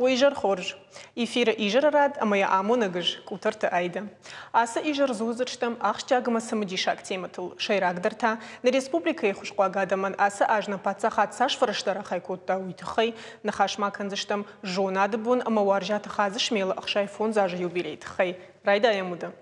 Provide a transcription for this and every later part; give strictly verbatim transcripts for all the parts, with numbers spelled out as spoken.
Уый изӕр хорз. Эфиры изӕры рад ӕмӕ йӕ амонӕг ыз Къутӕрты Айдӕ. Ацы изӕр дзурдзыстӕм ахсджиаг ӕмӕ цымыдисаг темӕтыл. Сӕйрагдӕр та, нӕ республикӕйы хуысхъуаг адӕмӕн ацы аз нӕ паддзахад цас фӕрӕзтӕ рахай кодта, уый тыххӕй ныхас ма кӕндзыстӕм зонады бон ӕмӕ Уарзиаты Хадзысмелы ӕхсай фондз азы юбилейы тыххӕй. Райдайӕм уыды.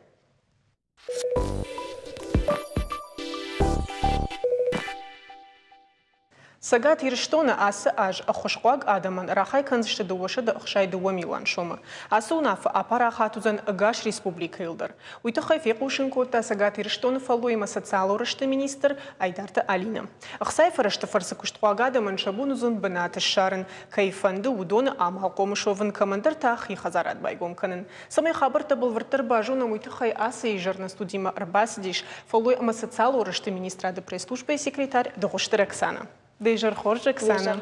Цӕгат Ирыстоны ацы аз ӕххуысхъуаг адӕмӕн рахай кӕндзысты дыууӕсӕдӕ ӕхсай дыууӕ милуан сомы. Ацы уынаффӕ апарахат уыдзӕн ӕгас республикӕйыл дӕр. Уый тыххӕй фехъусын кодта Цӕгат Ирыстоны фӕллой ӕмӕ социалон рӕзты министр Айдарты Алинӕ. Ӕхцайы фӕрӕзты фӕрцы куыстхъуаг адӕмӕн сӕ бон уыдзӕн бынат ссарын, кӕй фӕнды, уыдоны амалхъом суӕвын, кӕмӕндӕр та хи хӕдзарад байгом кӕнын. Цӕмӕй хабӕрттӕ бӕлвырддӕр базонӕм, уый тыххӕй ацы изӕр нӕ студимӕ ӕрбацыдис фӕллой ӕмӕ социалон рӕзты министрады пресс-службӕйы секретарь Дыгъуызты Роксана. Дӕ изӕр хорз, Оксана.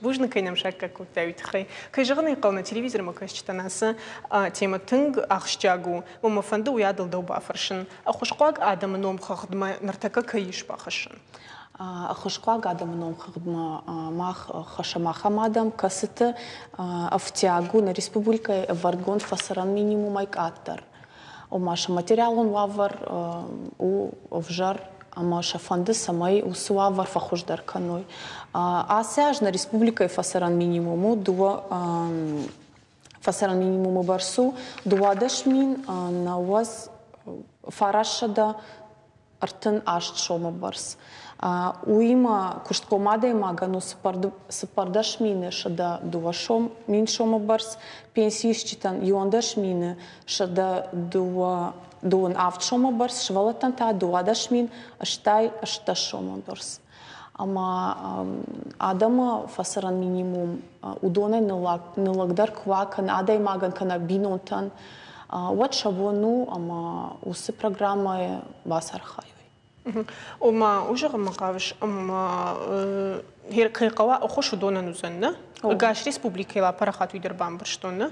Бузныг, кӕй нӕм саккаг кодтай, уый тыххӕй. Кӕй зӕгъын ӕй хъӕуы, нӕ телевизормӕ кӕсджытӕн ацы темӕ тынг ахсджиаг у. Уымӕ фӕнды уый адыл дӕу бафӕрсын. Ӕххуысхъуаг адӕмы номхыгъдмӕ ныртӕккӕ кӕй ис бахӕссын? Ӕххуысхъуаг адӕмы номхыгъдмӕ мах хӕссӕм ахӕм адӕм, кӕцыты ӕфтиаг у нӕ республикӕйы ӕвӕрдгонд фӕцӕрӕн минимумӕй къаддӕр. Ома сӕ материалон уавӕр у ӕвзӕр, ӕмӕ сӕ фӕнды, цӕмӕй уыцы уавӕр фӕхуыздӕр кӕной. Ацы аз нӕ республикӕйы фӕцӕрӕн минимум у дыууӕ фӕцӕрӕн минимумы бӕрц у дыууадӕс мин нӕуӕдз фарастсӕдӕ ӕртын аст сомы бӕрц. Уыимӕ куыстхъом адӕймагӕн у цыппӕрдӕс мины сӕдӕ дыууӕ сом мин сомы бӕрц, пенсиисджытӕн иуӕндӕс мины сӕдӕ дыууӕ дыууын авд сомы бӕрц, сывӕллӕттӕн та дыууадӕс мин ӕстай ӕстдӕс сомы бӕрц. Ӕмӕ адӕмы фӕцӕрӕн минимум уыдонӕй ныллӕгдӕр куы уа кӕнӕ адӕймагӕн, кӕнӕ бинонтӕн, уӕд сӕ бон у ӕмӕ уыцы программӕйы бацархайой. Ома, уый зӕгъынмӕ хъавыс, ӕмӕ кӕй хъӕуа ӕххуыс уыдонӕн уыдзӕн, нӕ? Ӕгас республикӕйыл апарахат уый дӕр бамбӕрстон, нӕ?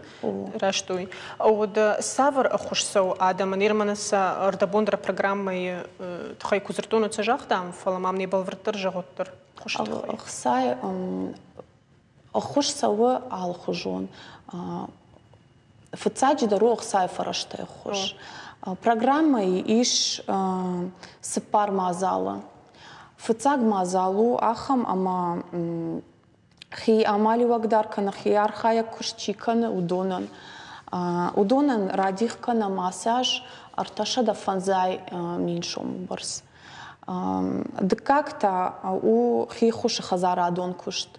Раст уый. Уӕдӕ цавӕр ӕххуыс цӕуы адӕмӕн? Ныр мӕнӕ сӕ ӕрдӕбон дӕр программӕйы тыххӕй куы дзырдтон, уӕд сӕ загътам, фӕлӕ мӕм не бӕлвырддӕр зӕгъут дӕр ӕххуысы тыххӕй. Ӕхцайы ӕххуыс цӕуы алыхуызон. Фыццаджыдӕр у ӕхцайы фӕрӕзтӕй ӕххуыс. Программӕйы ис цыппар мадзалы. Фыццаг мадзал у ахӕм, ӕмӕ хи амалиуӕгдӕр кӕнӕ хи архайӕг куыст чи кӕны, уыдонӕн. Уыдонӕн радих кӕнӕм ацы аз ӕртӕсӕдӕ фӕндзай мин сомы бӕрц. Дыккаг та у хи ххуысы хӕдзарадон куыст.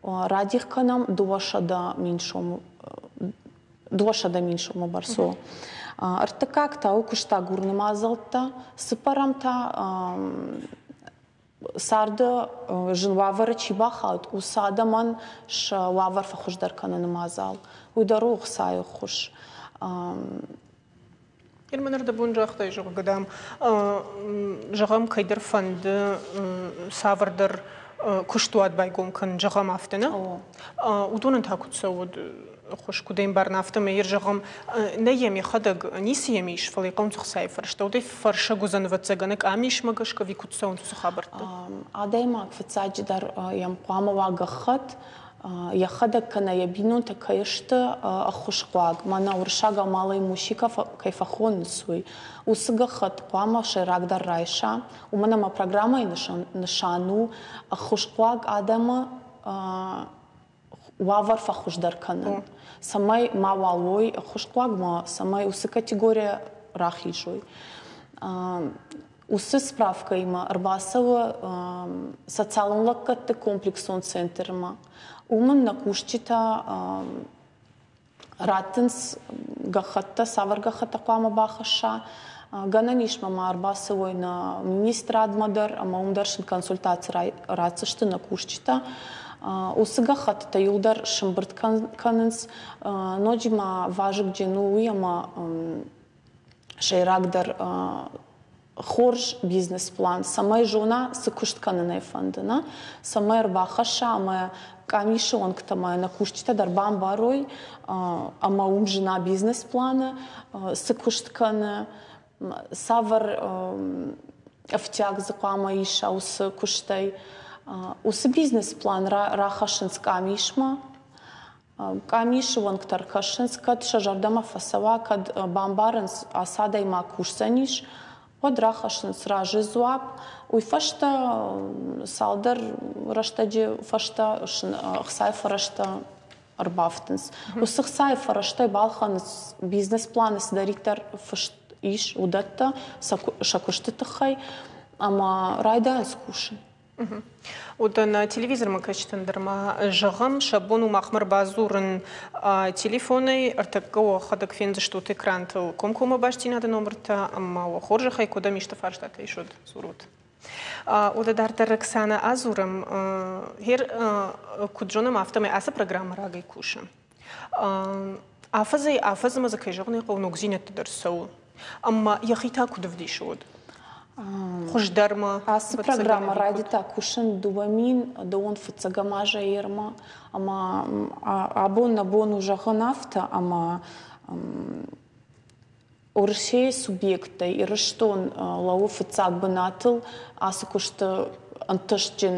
Радих кӕнӕм дыууӕсӕдӕ мин сомы дыууӕсӕдӕ мин сомы бӕрц у. Ӕртыккаг та у куыстагурыны мадзӕлттӕ, цыппӕрӕм та царды зын уавӕры чи бахауд, уыцы адӕмӕн сӕ уавӕр фӕхуыздӕр кӕныны мадзал. Уый дӕр у ӕхцайы ӕххуыс. Герман ӕрдӕбон загътай, зӕгъгӕ, дам, зӕгъӕм, кӕйдӕр фӕнды цавӕрдӕр куыстуат байгом кӕнын, зӕгъӕм, афтӕ, нӕ? Уыдонӕн та куыд цӕуы ӕххуыс, куыд ӕмбарын, афтӕмӕй йӕ зӕгъӕм, нӕ йӕм йӕхӕдӕг ницы йӕм ис, фӕлӕ йӕ хъӕуынц ӕхцайы фӕрӕзтӕ. Уыдӕй фӕрсӕг уыдзӕн, ӕвӕццӕгӕн, къамисмӕ гӕсгӕ ӕви куыд цӕуынц уыцы хабӕрттӕ? Адӕймаг фыццаджыдӕр йӕм хъуамӕ уа гӕххӕтт, йӕхӕдӕг кӕнӕ йӕ бинонтӕ кӕй сты ӕххуысхъуаг, мӕнӕ уырыссагау малоимущий кӕй фӕхонынц, уый. Уыцы гӕххӕтт хъуамӕ сӕйрагдӕр райса, уымӕн ӕмӕ программӕйы нысан у ӕххуысхъуаг адӕмы уавӕр фӕхуыздӕр кӕнын, цӕмӕй мауал уой ӕххуысхъуаг, ма цӕмӕй уыцы категорийӕ рахизой. Уыцы справкӕимӕ ӕрбацӕуы социалон лӕггӕдты комплексон центрмӕ. Уым ын нӕ кусджытӕ раттынц гӕххӕттӕ, цавӕр гӕххӕттӕ хъуамӕ бахӕсса. Гӕнӕн ис ма ма ӕрбацӕуой нӕ министрадмӕ дӕр, ӕмӕ уым дӕр сын консультаци ратдзысты нӕ кусджытӕ. Уыцы гӕххӕттытӕ иуылдӕр сӕмбырд кӕнынц. Ноджы ма вазыгджын у уый, ӕмӕ сӕйрагдӕр Хорз бизнес-план, цӕмӕй зона, цы куыст кӕнын ӕй фӕнды, нӕ? Цӕмӕй ӕрбахӕсса ӕмӕ къамисы уӕнгтӕ ӕмӕ нӕ кусджытӕ дӕр бамбарой, ӕмӕ уым зына бизнес-планы, цы куыст кӕны, цавӕр ӕфтиаг дзы хъуамӕ иса уыцы куыстӕй. Уыцы бизнес-план рахӕссынц къамисмӕ. Къамисы уӕнгтӕ ӕркӕсынц, кӕд сӕ зӕрдӕмӕ фӕцӕуа, кӕд бамбарынц, ацы адӕймаг кусдзӕнис, уӕд рахӕссынц разы дзуапп. Уый фӕстӕ цалдӕр рӕстӕджы фӕстӕ ӕхцайы фӕрӕзтӕ ӕрбафтынц. Уыцы ӕхцайы фӕрӕзтӕй балхӕнынц бизнес-планы цыдӕриддӕр фыст ис, уыдӕттӕ сӕ куысты тыххӕй ӕмӕ райдайынц кусын. Уыдон телевизормӕ кӕсджытӕн дӕр ма зӕгъӕм, сӕ бон у махмӕ ӕрбадзурын телефонӕй, ӕртӕккӕ уӕхӕдӕг фендзыстут экрантыл комкоммӕ бастдзинады номыртӕ ӕмӕ уӕ хорзӕхӕй куыдӕм исты фарстатӕ ис, уӕд дзурут. Уӕдӕ дарддӕр Оксана адзурӕм, гъер куыд зонӕм, афтӕмӕй ацы программӕ рагӕй кусы. Афӕдзӕй афӕдзмӕ дзы кӕй зӕгъын ӕй хъӕуы, ногдзинӕдтӕ дӕр цӕуы. Ӕмӕ йӕхи та куыд ӕвдисы уӕд? Хуыздӕрмӕ. Ацы программӕ райдыдта кусын дыууӕ мин дыууын фыццӕгӕм азӕй ермӕ. Ӕмӕ абон нӕ бон у зӕгъын афтӕ, ӕмӕ Уӕрӕсейы субъекттӕй Ирыстон лӕууы фыццаг бынатыл ацы куысты ӕнтыстджын,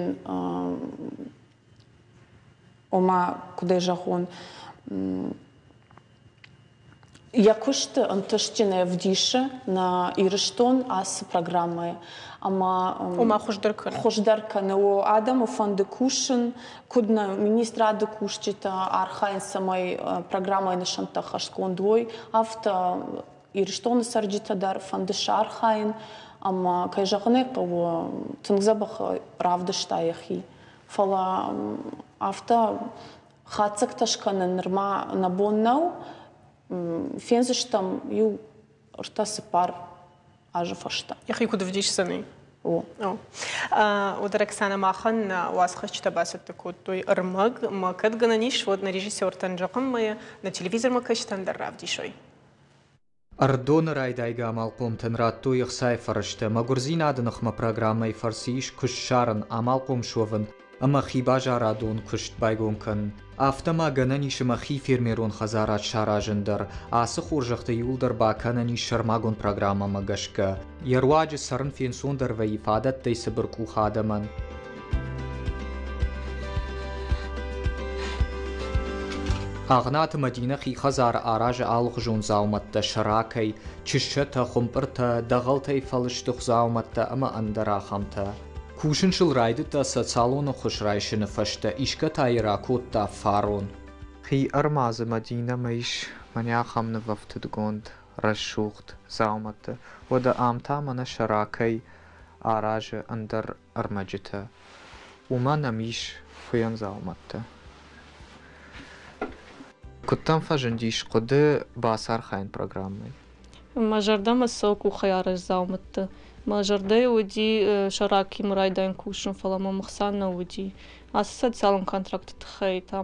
ома, куыдӕй зӕгъон, йӕ куысты ӕнтыстджынӕй ӕвдисы нӕ Ирыстон ацы программӕйы. Ӕмӕ ома хуыздӕр кӕны. Хуыздӕр кӕны. О, адӕмы фӕнды кусын, куыд нӕ министрады кусджытӕ архайынц, цӕмӕй программӕйы нысӕнттӕ ӕххӕстгонд уой, афтӕ Ирыстоны цӕрджытӕ дӕр фӕнды сӕ архайын. Ӕмӕ, кӕй зӕгъын ӕй хъӕуы, тынг дзӕбӕх равдыста йӕхи. Фӕлӕ афтӕ хатдзӕгтӕ скӕнын нырма нӕ бон нӕу. Фендзыстӕм иу ӕртӕ-цыппар азы фӕстӕ. Йӕхи куыд ӕвдисдзӕни? О. Уӕдӕ Оксана махӕн уацхӕсджытӕ бацӕттӕ кодтой ӕрмӕг, ӕмӕ кӕд гӕнӕн ис, уӕд нӕ режиссертӕн зӕгъӕм ӕмӕ нӕ телевизормӕ кӕсджытӕн дӕр равдисой. Ӕрыдоны райдайгӕ амалхъомтӕн радтой ӕхцайы фӕрӕзтӕ. Мӕгуырдзинады ныхмӕ программӕйы фӕрцы ис куыст ссарын, амалхъом суӕвын ӕмӕ хибазарадон куыст байгом кӕнын. Афтӕ ма гӕнӕн ис ӕмӕ хи фермерон хӕдзарад саразын дӕр. Ацы хорзӕхтӕ иууылдӕр бакӕнӕн ис сӕрмагонд программӕмӕ гӕсгӕ. Йӕ руаджы цӕрын фенцондӕр вӕййы фадӕттӕй цыбыркъух адӕмӕн. Агънаты Мадинӕ хи хӕдзары аразы алыхуызон дзаумӕттӕ сӕракӕй, чыссӕтӕ, хуымпъыртӕ, дӕгъӕлтӕй фӕлыстых дзаумӕттӕ ӕмӕ ӕндӕр ахӕмтӕ. Кусын сыл райдыдта социалон ӕххуыс райсыны фӕстӕ, исгӕ та йӕ ракодта фарон. Хи ӕрмадзы Мадинӕмӕ ис мӕнӕ ахӕм нывӕфтыдгонд рӕсугъд дзаумӕттӕ. Уӕдӕ ам та мӕнӕ сӕракӕй аразы ӕндӕр ӕрмӕджытӕ. Уымӕн ӕм ис хуыйӕн дзаумӕттӕ. Куыд дӕм фӕзындис хъуыды бацархайын программӕйы? Мӕ зӕрдӕмӕ цӕуы къухӕй арӕзт дзаумӕттӕ. Мӕ зӕрдӕйы уыди сӕракимӕ райдайын кусын, фӕлӕ мӕм ӕхца нӕ уыди. Ацы социалон контракты тыххӕй та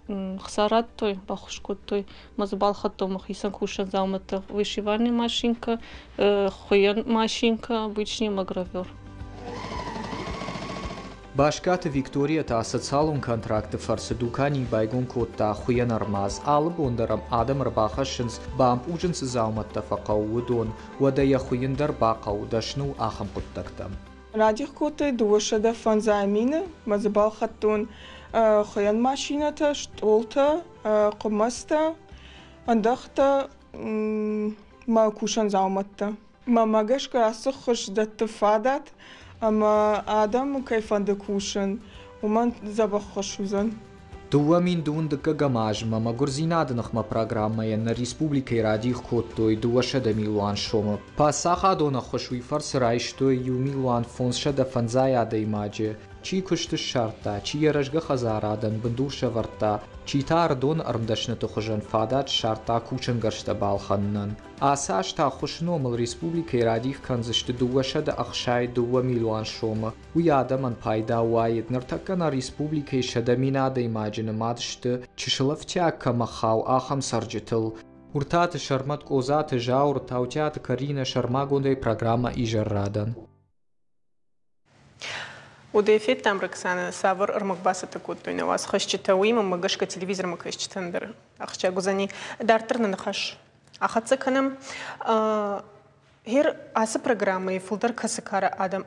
ӕхца радтой, баххуыс кодтой. Мӕ дзы балхӕдтон мӕхицӕн кусӕн дзаумӕттӕ. Вышивальная машинка, хуыйӕн машинка, обычный ӕмӕ гравер. Баскаты Виктория та социалон контракты фӕрцы дукани байгом кодта хуыйӕн ӕрмадз. Алы бон дӕр ӕм адӕм ӕрбахӕссынц, бампъузын цы дзаумӕттӕ фӕхъӕуы, уыдон. Уӕдӕ йӕ хуыйын дӕр бахъӕуы, дӕсны у ахӕм хъуыддӕгтӕм. Радих кодтой дыууӕсӕдӕ фӕндзай мины, мӕ дзы балхӕдтон хуыйӕн машинӕтӕ, стъолтӕ, хъуымӕцтӕ, ӕндӕхтӕ, мӕ кусӕн дзаумӕттӕ. Мӕнмӕ гӕсгӕ ацы хуыз дӕтты фадат, ӕмӕ адӕмы кӕй фӕнды кусын, уымӕн дзӕбӕх ххуыс уыдзӕн. Дыууӕ мин дыууын дыккӕгӕм азмӕ мӕгуырдзинады ныхмӕ программӕйӕн нӕ республикӕйы радих кодтой дыууӕсӕдӕ милуан сомы. Паддзахадон ӕххуыс уый фӕрцы райстой иу милуан фондзсӕдӕ фӕндзай адӕймаджы. Чи куыст ссардта, чи йӕ рӕзгӕ хӕдзарадӕн бындур сӕвӕрдта, чи та ӕрыдоны ӕрмдӕсныты хуызӕн фадат ссардта кусӕнгӕрзтӕ балхӕнынӕн. Ацы аз та ӕххуысы номыл республикӕйы радих кӕндзысты дыууӕсӕдӕ ӕхсай дыууӕ милуан сомы. Уый адӕмӕн пайда уаид. Ныртӕккӕ нӕ республикӕйы сӕдӕ мин адӕймаджы нымад сты, чысыл ӕфтиаг кӕмӕ хауы, ахӕм цӕрджытыл. Уртаты Сӕрмӕт, Къозаты Зауыр, Таутиаты Каринӕ, сӕрмагондӕй программӕ «Изӕррадӕн». Уыдӕй федтам, Роксана, цавӕр ӕрмӕг бацӕттӕ кодтой нӕ уацхӕсджытӕ, уыимӕ мӕ гӕсгӕ телевизормӕ кӕсджытӕн дӕр ахсджиаг уыдзӕни. Дарддӕр нӕ ныхас ахӕццӕ кӕнӕм. Гъер ацы программӕйы фылдӕр кӕцы кары адӕм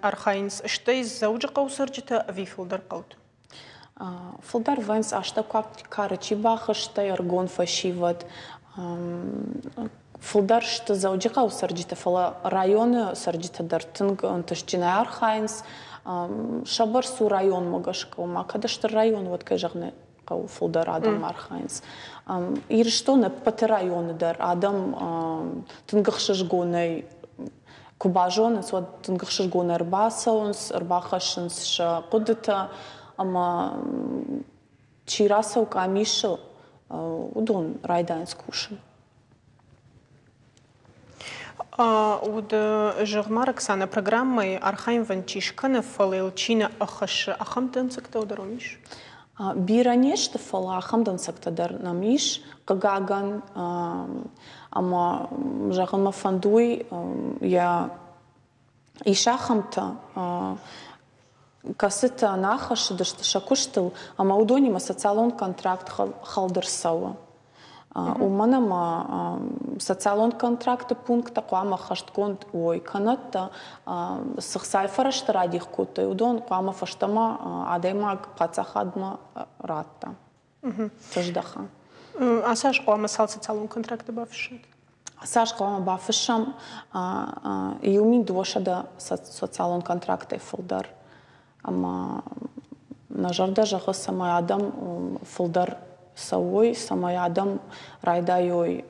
архайынц, стӕй Дзӕуджыхъӕуы цӕрджытӕ ӕви фылдӕр хъӕуты? Фылдӕр вӕййынц астӕуккаг кары чи бахызтӕй, ӕрыгон фӕсивӕд. Фылдӕр сты Дзӕуджыхъӕуы цӕрджытӕ, фӕлӕ районы цӕрджытӕ дӕр тынг ӕнтыстджынӕй архайынц. Сӕ бӕрц у районмӕ гӕсгӕ, ома кӕд стыр район, уӕд, кӕй зӕгъын хъӕуы, фылдӕр адӕм архайынц. Ирыстоны ӕппӕты районы дӕр адӕм тынг ӕхсызгонӕй куы базонынц, уӕд тынг ӕхсызгонӕй ӕрбацӕуынц, ӕрбахӕссынц сӕ хъуыдытӕ, ӕмӕ чи рацӕуы къамисы, уыдон райдайынц кусын. Уыд, зӕгъ-ма, Роксана, программӕйы архайынвӕнд чи скӕны, фӕлӕ йыл чи нӕ ӕххӕссы, ахӕм дӕнцӕгтӕ дӕр уым ис? Бирӕ не сты, фӕлӕ ахӕм дӕнцӕгтӕ дӕр нӕм ис, хъыгагӕн. Ӕмӕ зӕгъын мӕ фӕнды уый, йӕ ис ахӕмтӕ, кӕцытӕ нӕ аххӕссыдысты сӕ куыстыл, ӕмӕ уыдонимӕ социалон контракт хӕлд ӕрцӕуы. Уымӕн ӕмӕ социалон контракты пункттӕ хъуамӕ ӕххӕстгонд уой, кӕнӕдтӕ цы хцайы фӕрӕзтӕ радих кодтой, уыдон хъуамӕ фӕстӕмӕ адӕймаг паддзахадмӕ радта, сыздӕха. Ацы аз хъуамӕ цал социалон контракты бафыссат? Ацы аз хъуамӕ бафыссӕм иу мин дыууӕсӕдӕ социалон контрактӕй фылдӕр. Ӕмӕ нӕ зӕрдӕ зӕгъы, цӕмӕй адӕм фылдӕр цӕуой, цӕмӕй адӕм райдайой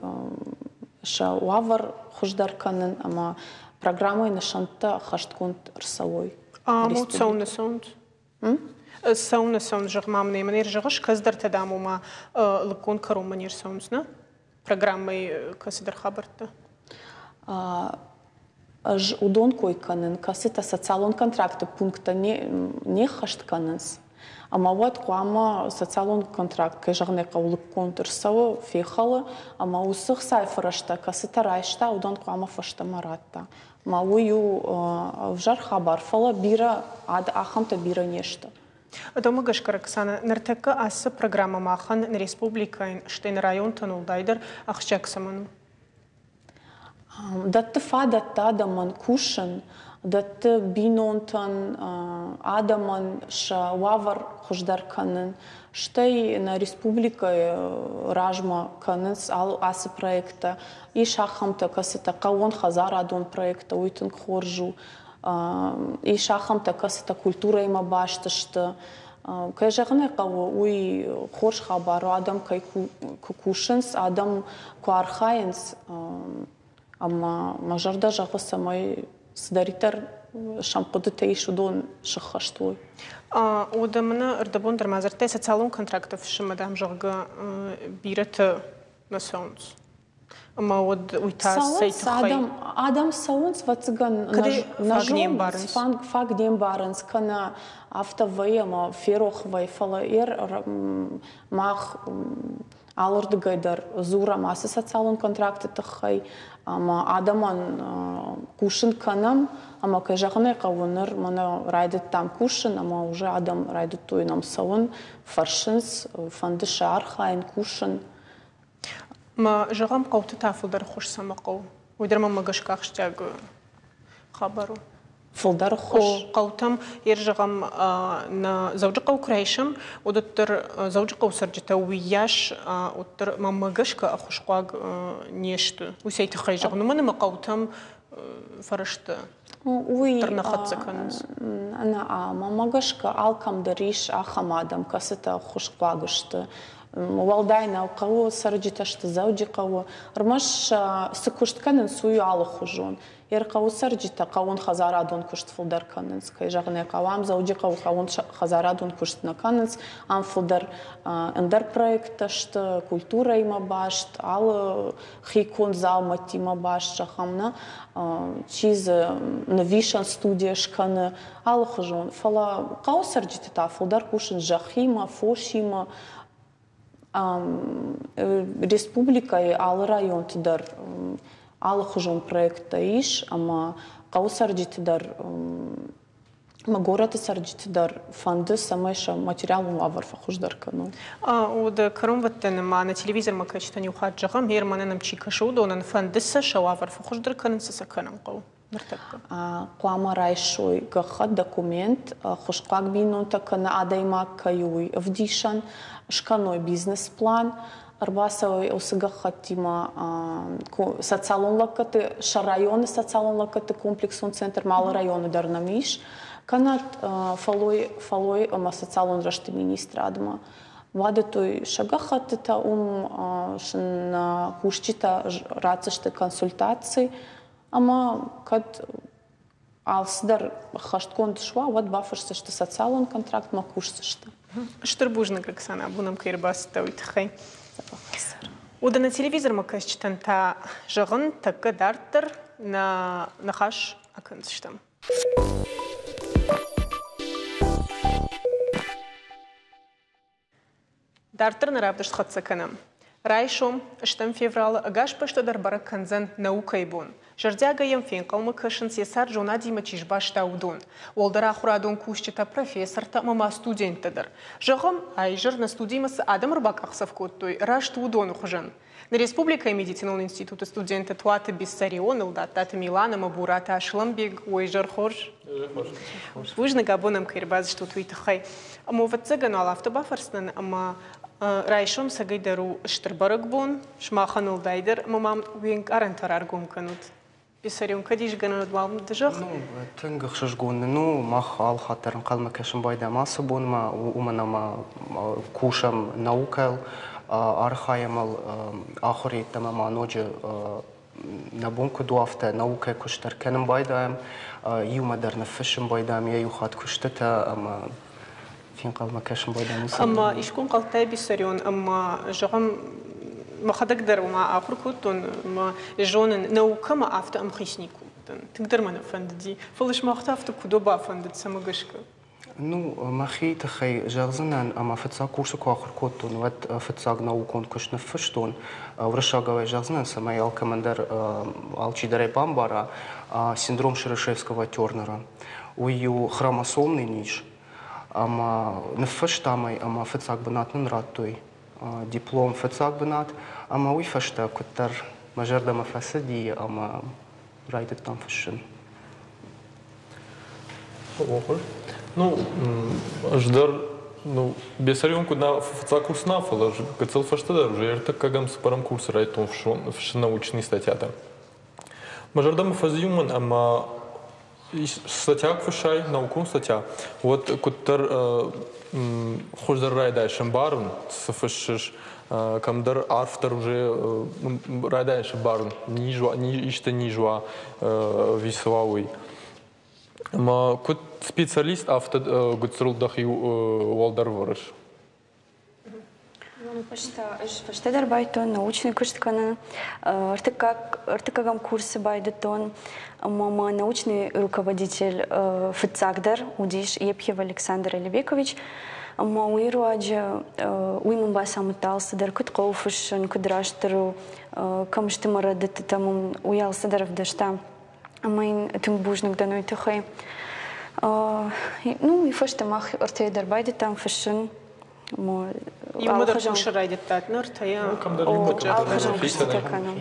сӕ уавӕр хуыздӕр кӕнын ӕмӕ программӕйы нысӕнттӕ ӕххӕстгонд ӕрцӕуой. Ӕмӕ цӕуыннӕ цӕуынц? Цӕуыннӕ цӕуынц, зӕгъ-ма мын, ӕмӕ не рзӕгъыс, кӕцыдӕртӕ, дам, ома лыггонд кӕронмӕ не рцӕуынц, нӕ? Программӕйы кӕцыдӕр хабӕрттӕ. Ӕз уыдон кой кӕнын, кӕцытӕ социалон контракты пункттӕ не ххӕст кӕнынц. Ӕмӕ уӕд хъуамӕ социалон контракт, кӕй зӕгъын ӕй хъӕуы, лыггонд ӕрцӕуы, фехӕлы, ӕмӕ уыцы хцайы фӕрӕзтӕ, кӕцытӕ райста, уыдон хъуамӕ фӕстӕмӕ радта. Ӕмӕ уый у ӕвзӕр хабар, фӕлӕ бирӕ ахӕмтӕ бирӕ не сты. Домӕ гӕсгӕ, Роксана, ныртӕккӕ ацы программӕ махӕн нӕ республикӕйӕн, стӕй нӕ районтӕн уӕлдайдӕр ахсджиаг цӕмӕн у? Дӕтты фадӕттӕ адӕмӕн кусын, дӕтты бинонтӕн, адӕмӕн сӕ уавӕр хуыздӕр кӕнын. Стӕй нӕ республикӕйы размӕ кӕнынц ацы проекттӕ. Ис ахӕмтӕ, кӕцытӕ хъӕууон хӕдзарадон проекттӕ, уый тынг хорз у. Ис ахӕмтӕ, кӕцытӕ культурӕимӕ баст сты. Кӕй зӕгъын ӕй хъӕуы, уый хорз хабар у, адӕм кӕй куы кусынц, адӕм куы архайынц, ӕмӕ мӕ зӕрдӕ зӕгъы, цӕмӕй цыдӕриддӕр сӕм хъуыдытӕ ис, уыдон сыххӕст уой. Уӕдӕ мӕнӕ ӕрдӕбон дӕр ма дзырдтай социалон контракты фыссынмӕ, дам, зӕгъгӕ, бирӕтӕ нӕ цӕуынц. Ӕмӕ уӕд уый та цӕй тыххӕй? Адӕм, адӕм цӕуынц, ӕвӕццӕгӕн, фаг не мбарынц. Фаг не мбарынц, кӕнӕ афтӕ вӕййы ӕмӕ ферох вӕййы, фӕлӕ мах алырдыгӕй дӕр дзурӕм ацы социалон контракты тыххӕй ӕмӕ адӕмӕн хъусын кӕнӕм, ӕмӕ, кӕй зӕгъын ӕй хъӕуы, ныр мӕнӕ райдыдтам кусын, ӕмӕ уже адӕм райдыдтой нӕм цӕуын, фӕрсынц, фӕнды сӕ архайын, кусын. Ма зӕгъӕм, хъӕуты та фылдӕр ӕххуыс цӕмӕ хъӕуы? Уый дӕр мӕм гӕсгӕ ахсджиаг хабар у. Фылдӕр ӕххуыс? Хъӕутӕм, ер зӕгъӕм, нӕ Дзӕуджыхъӕу куы райсӕм, уӕддӕр Дзӕуджыхъӕуы цӕрджытӕ уыйас уӕддӕр мӕнмӕ гӕсгӕ ӕххуысхъуаг не сты. Уый цӕй тыххӕй зӕгъын, уымӕн ӕмӕ хъӕутӕм фӕрӕзтӕ Уый дӕр нӕ хӕццӕ кӕнынц. Нӕ, мӕнмӕ гӕсгӕ алкӕм дӕр ис ахӕм адӕм, кӕцытӕ ӕххуысхъуаг сты. Уӕлдай нӕу, хъӕуы цӕрджытӕ сты Дзӕуджыхъӕуы. Ӕрмӕст сӕ цы куыст кӕнынц, уый у алыхуызон. Ӕрхъӕуы цӕрджытӕ хъӕууон хӕдзарадон куыст фылдӕр кӕнынц. Кӕй зӕгъын ӕй хъӕуы, ам Дзӕуджыхъӕуы хъӕууон хӕдзарадон куыст нӕ кӕнынц. Ам фылдӕр ӕндӕр проекттӕ сты, культурӕимӕ баст, алы хиконд дзаумӕттимӕ баст, зӕгъӕм, нӕ. Чи дзы нывисӕн студия скӕны, алыхуызон. Фӕлӕ хъӕуы цӕрджытӕ та фылдӕр кусынц зӕххимӕ, фосимӕ. Республикӕйы алы районты дӕр алыхуызон проекттӕ ис, ӕмӕ хъӕуы цӕрджыты дӕр ӕмӕ горӕты цӕрджыты дӕр фӕнды, цӕмӕй сӕ материалон уавӕр фӕхуыздӕр кӕной. Уӕдӕ кӕронбӕттӕны ма нӕ телевизормӕ кӕсджытӕн иу хатт зӕгъӕм, Германы нӕм чи кӕсы, уыдонӕн фӕнды сӕ сӕ уавӕр фӕхуыздӕр кӕнын, цы сӕ кӕнын хъӕуы ныртӕккӕ? Хъуамӕ райсой гӕххӕтт, документ, хуысхъуаг бинонтӕ кӕнӕ адӕймаг кӕй у, уый ӕвдисӕн, скӕной бизнес-план, ӕрбацӕуой уыцы гӕххӕттимӕ социалон лӕггӕдты, сӕ районы социалон лӕггӕдты комплексон центр алы районы дӕр нӕм ис, кӕнӕ фӕллой, фӕллой ӕмӕ социалон рӕзты министрадмӕ. Бадӕттой сӕ гӕххӕттытӕ, уым сын кусджытӕ ратдзысты консультаци, ӕмӕ кӕд алцыдӕр ӕххӕстгонд суа, уӕд бафысдзысты социалон контрактмӕ, кусдзысты. Стыр бузныг, Оксана, абон ӕм кӕй ӕрбацыдтӕ, уый тыххӕй. Уӕдӕ нӕ телевизормӕ кӕсджытӕн та зӕгъын, тӕккӕ дарддӕр нӕ ныхас акӕндзыстӕм. Дарддӕр нӕ равдыст хӕццӕ кӕнӕм. Райсом, ӕстӕм февралы, ӕгас бӕстӕ дӕр бӕрӕг кӕндзӕн наукӕйы бон. Зӕрдиагӕй йӕм фенхъӕлмӕ кӕсынц, йӕ цард зонадимӕ чи сбаста, уыдон. Уӕлдӕр ахуырадон кусджытӕ, профессортӕ ӕмӕ ма студенттӕ дӕр. Зӕгъӕм, а-изӕр нӕ студимӕ цы адӕм ӕрбакъахдзӕф кодтой, раст уыдоны хуызӕн. Нӕ республикӕйы медицинон институты студенттӕ Туаты Бессарион, Ӕлдаттаты Милан ӕмӕ Бураты Аслӕнбег, уой изӕр хорз. Бузныг, абон ӕм кӕй ӕрбацыдыстут, уый тыххӕй. Ӕмӕ ӕвӕццӕгӕн уал афтӕ бафӕрсдзынӕн, ӕмӕ райсом цӕгӕй дӕр у стыр бӕрӕгбон, сымахӕн уӕлдай дӕр, ӕмӕ мӕм уе нкъарӕнтӕ раргом кӕнут. Бессарион, кӕд ис гӕнӕн, уӕд уал ды зӕгъ. Ну, тынг ӕхсызгон нын у, мах алхатт дӕр ӕнхъӕлмӕ кӕсын байдайӕм ацы бонмӕ, уымӕн ӕмӕ кусӕм наукӕйыл, архайӕм ыл ахуыр йеддӕмӕ ма ноджы нӕ бон куыд у, афтӕ наукӕйы куыст дӕр кӕнын байдайӕм, иумӕ дӕр ныффыссын байдайӕм йӕ иу хатт куыстытӕ ӕмӕ фенхъӕлмӕ кӕсын байдайӕм уыцы. Ӕмӕ искуы ӕнхъӕлдтай, Бессарион, ӕмӕ зӕгъӕм, мӕхӕдӕг дӕр уымӕ ахуыр кодтон, ӕмӕ зонын, наукӕмӕ афтӕ ӕмхиц никуы уыдтӕн. Тынгдӕр мӕ нӕ фӕндыди. Фӕлӕ сымах та афтӕ куыд бафӕндыд, цӕмӕ гӕсгӕ? Ну, мӕхи тыххӕй зӕгъдзынӕн, ӕмӕ фыццаг курсы куы ахуыр кодтон, уӕд фыццаг наукон куыст ныффыстон. Уырыссагау зӕгъдзынӕн, цӕмӕй алкӕмӕн дӕр алчидӕр ӕй бамбара, синдром Шерешевского-Тернера. Уый у хромосомный низ, ӕмӕ ныффыстам ӕй, ӕмӕ фыццаг бынат нын радтой. Диплом фыццаг бынат, ӕмӕ уый фӕстӕ куыддӕр мӕ зӕрдӕмӕ фӕцыди ӕмӕ райдыдтам фыссын. Ну, ӕз дӕр, ну, Бессарион куыд нӕ фыццаг курс нӕ, фӕлӕ гыццыл фӕстӕдӕр уже ӕртыккӕгӕм цыппӕрӕм курсы райдыдтон фыссын научный статьятӕ. Мӕ зӕрдӕмӕ фӕзыди уымӕн, ӕмӕ статья куы фыссай, наукон статья, уӕд куыддӕр хуыздӕр райдайыс ӕмбарын, цы фыссыс, кӕмдӕр арфдӕр уже райдайыс ӕмбарын, низ уа, исты низ уа, ӕви цы уа, уый. Ӕмӕ куыд специалист, афтӕ гуыцырыл дӕхи уӕлдӕр вӕрыс. Ӕз фӕстӕдӕр байдтон научный куыст кӕнын. Ӕртыккӕгӕм курсы байдыдтон, ӕмӕ мӕ научный руководитель фыццагдӕр уыдис Епхиев Александр Алибекович. Ӕмӕ уый руаджы уый мын бацамыдта алцыдӕр, куыд хъӕуы фыссын, куыд растдӕр у, кӕм сты мӕ рӕдыдтытӕ, мын уый алцыдӕр ӕвдыста. Ӕмӕ йын тынг бузныг дӕн уый тыххӕй. Ну, уый фӕстӕ мах ӕртӕйӕ дӕр байдыдтам фыссын. Иумӕ дӕр кусын райдыдтат ныр ӕртӕйӕ? Алыхуызон куыстытӕ кӕнӕм.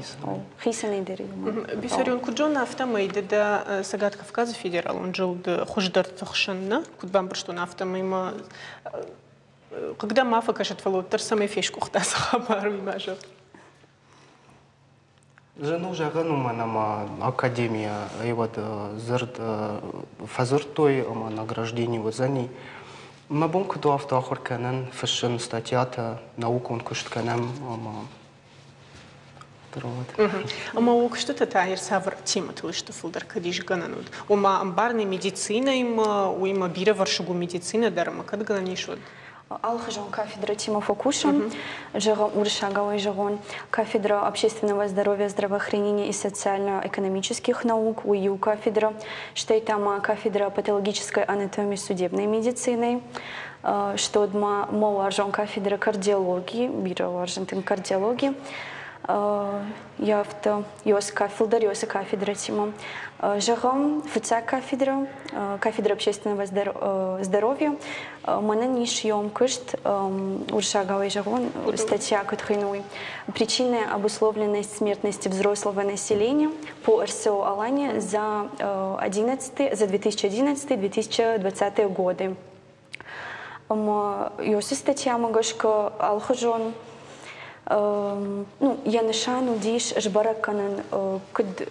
Хицӕнӕй дӕр иумӕ. Бессарион, куыд зонын, афтӕмӕй ды дӕ Цӕгат Кавказы федералон зылды хуыздӕрты хсӕн, нӕ? Куыд бамбӕрстон, афтӕмӕй ма хъыг дӕм ма фӕкӕсӕд, фӕлӕ уӕддӕр цӕмӕй фесгуыхт ацы хабар, уый ма зӕгъ. Зын у зӕгъӕн, уымӕн ӕмӕ академийӕ уӕд дзырд фӕдзырдтой ӕмӕ награждени уыдзӕни. Мӕ бон куыд у, афтӕ ахуыр кӕнын, фыссын статьятӕ, наукон куыст кӕнӕм ӕмӕ Ӕмӕ уӕ куыстытӕ та цавӕр темӕтыл сты фылдӕр, кӕд ис гӕнӕн уыд? Ома ӕмбарыны медицинӕимӕ, уыимӕ бирӕвӕрсыг у медицинӕ дӕр, ӕмӕ кӕд гӕнӕн ис уӕд? Алыхуызон кафедрӕтимӕ фӕкусӕм, зӕгъӕм, уырыссагау зӕгъон, кафедра общественного здоровья, здравоохранения и социально-экономических наук, уый иу кафедра, стӕй та ма кафедра патологической анатомии судебной медицины, что ма мӕ уарзон кафедра кардиологии, бирӕ уарзын тынг кардиологи. Афтӕ фылдӕр уыцы кафедрӕтимӕ. Зӕгъӕм, фыццаг кафедра, кафедра общественного здоровья, мӕнӕн ис йом куыст, уырыссагау зӕгъон, статья куыд хуыйны уый. Причины обусловленности смертности взрослого населения по эр эс о Алания за одиннадцатый, за две тысячи одиннадцатый-две тысячи двадцатые годы. Ӕмӕ уыцы статьямӕ гӕсгӕ алыхуызон, ну, йӕ нысан уыдис сбӕрӕг кӕнын, куыд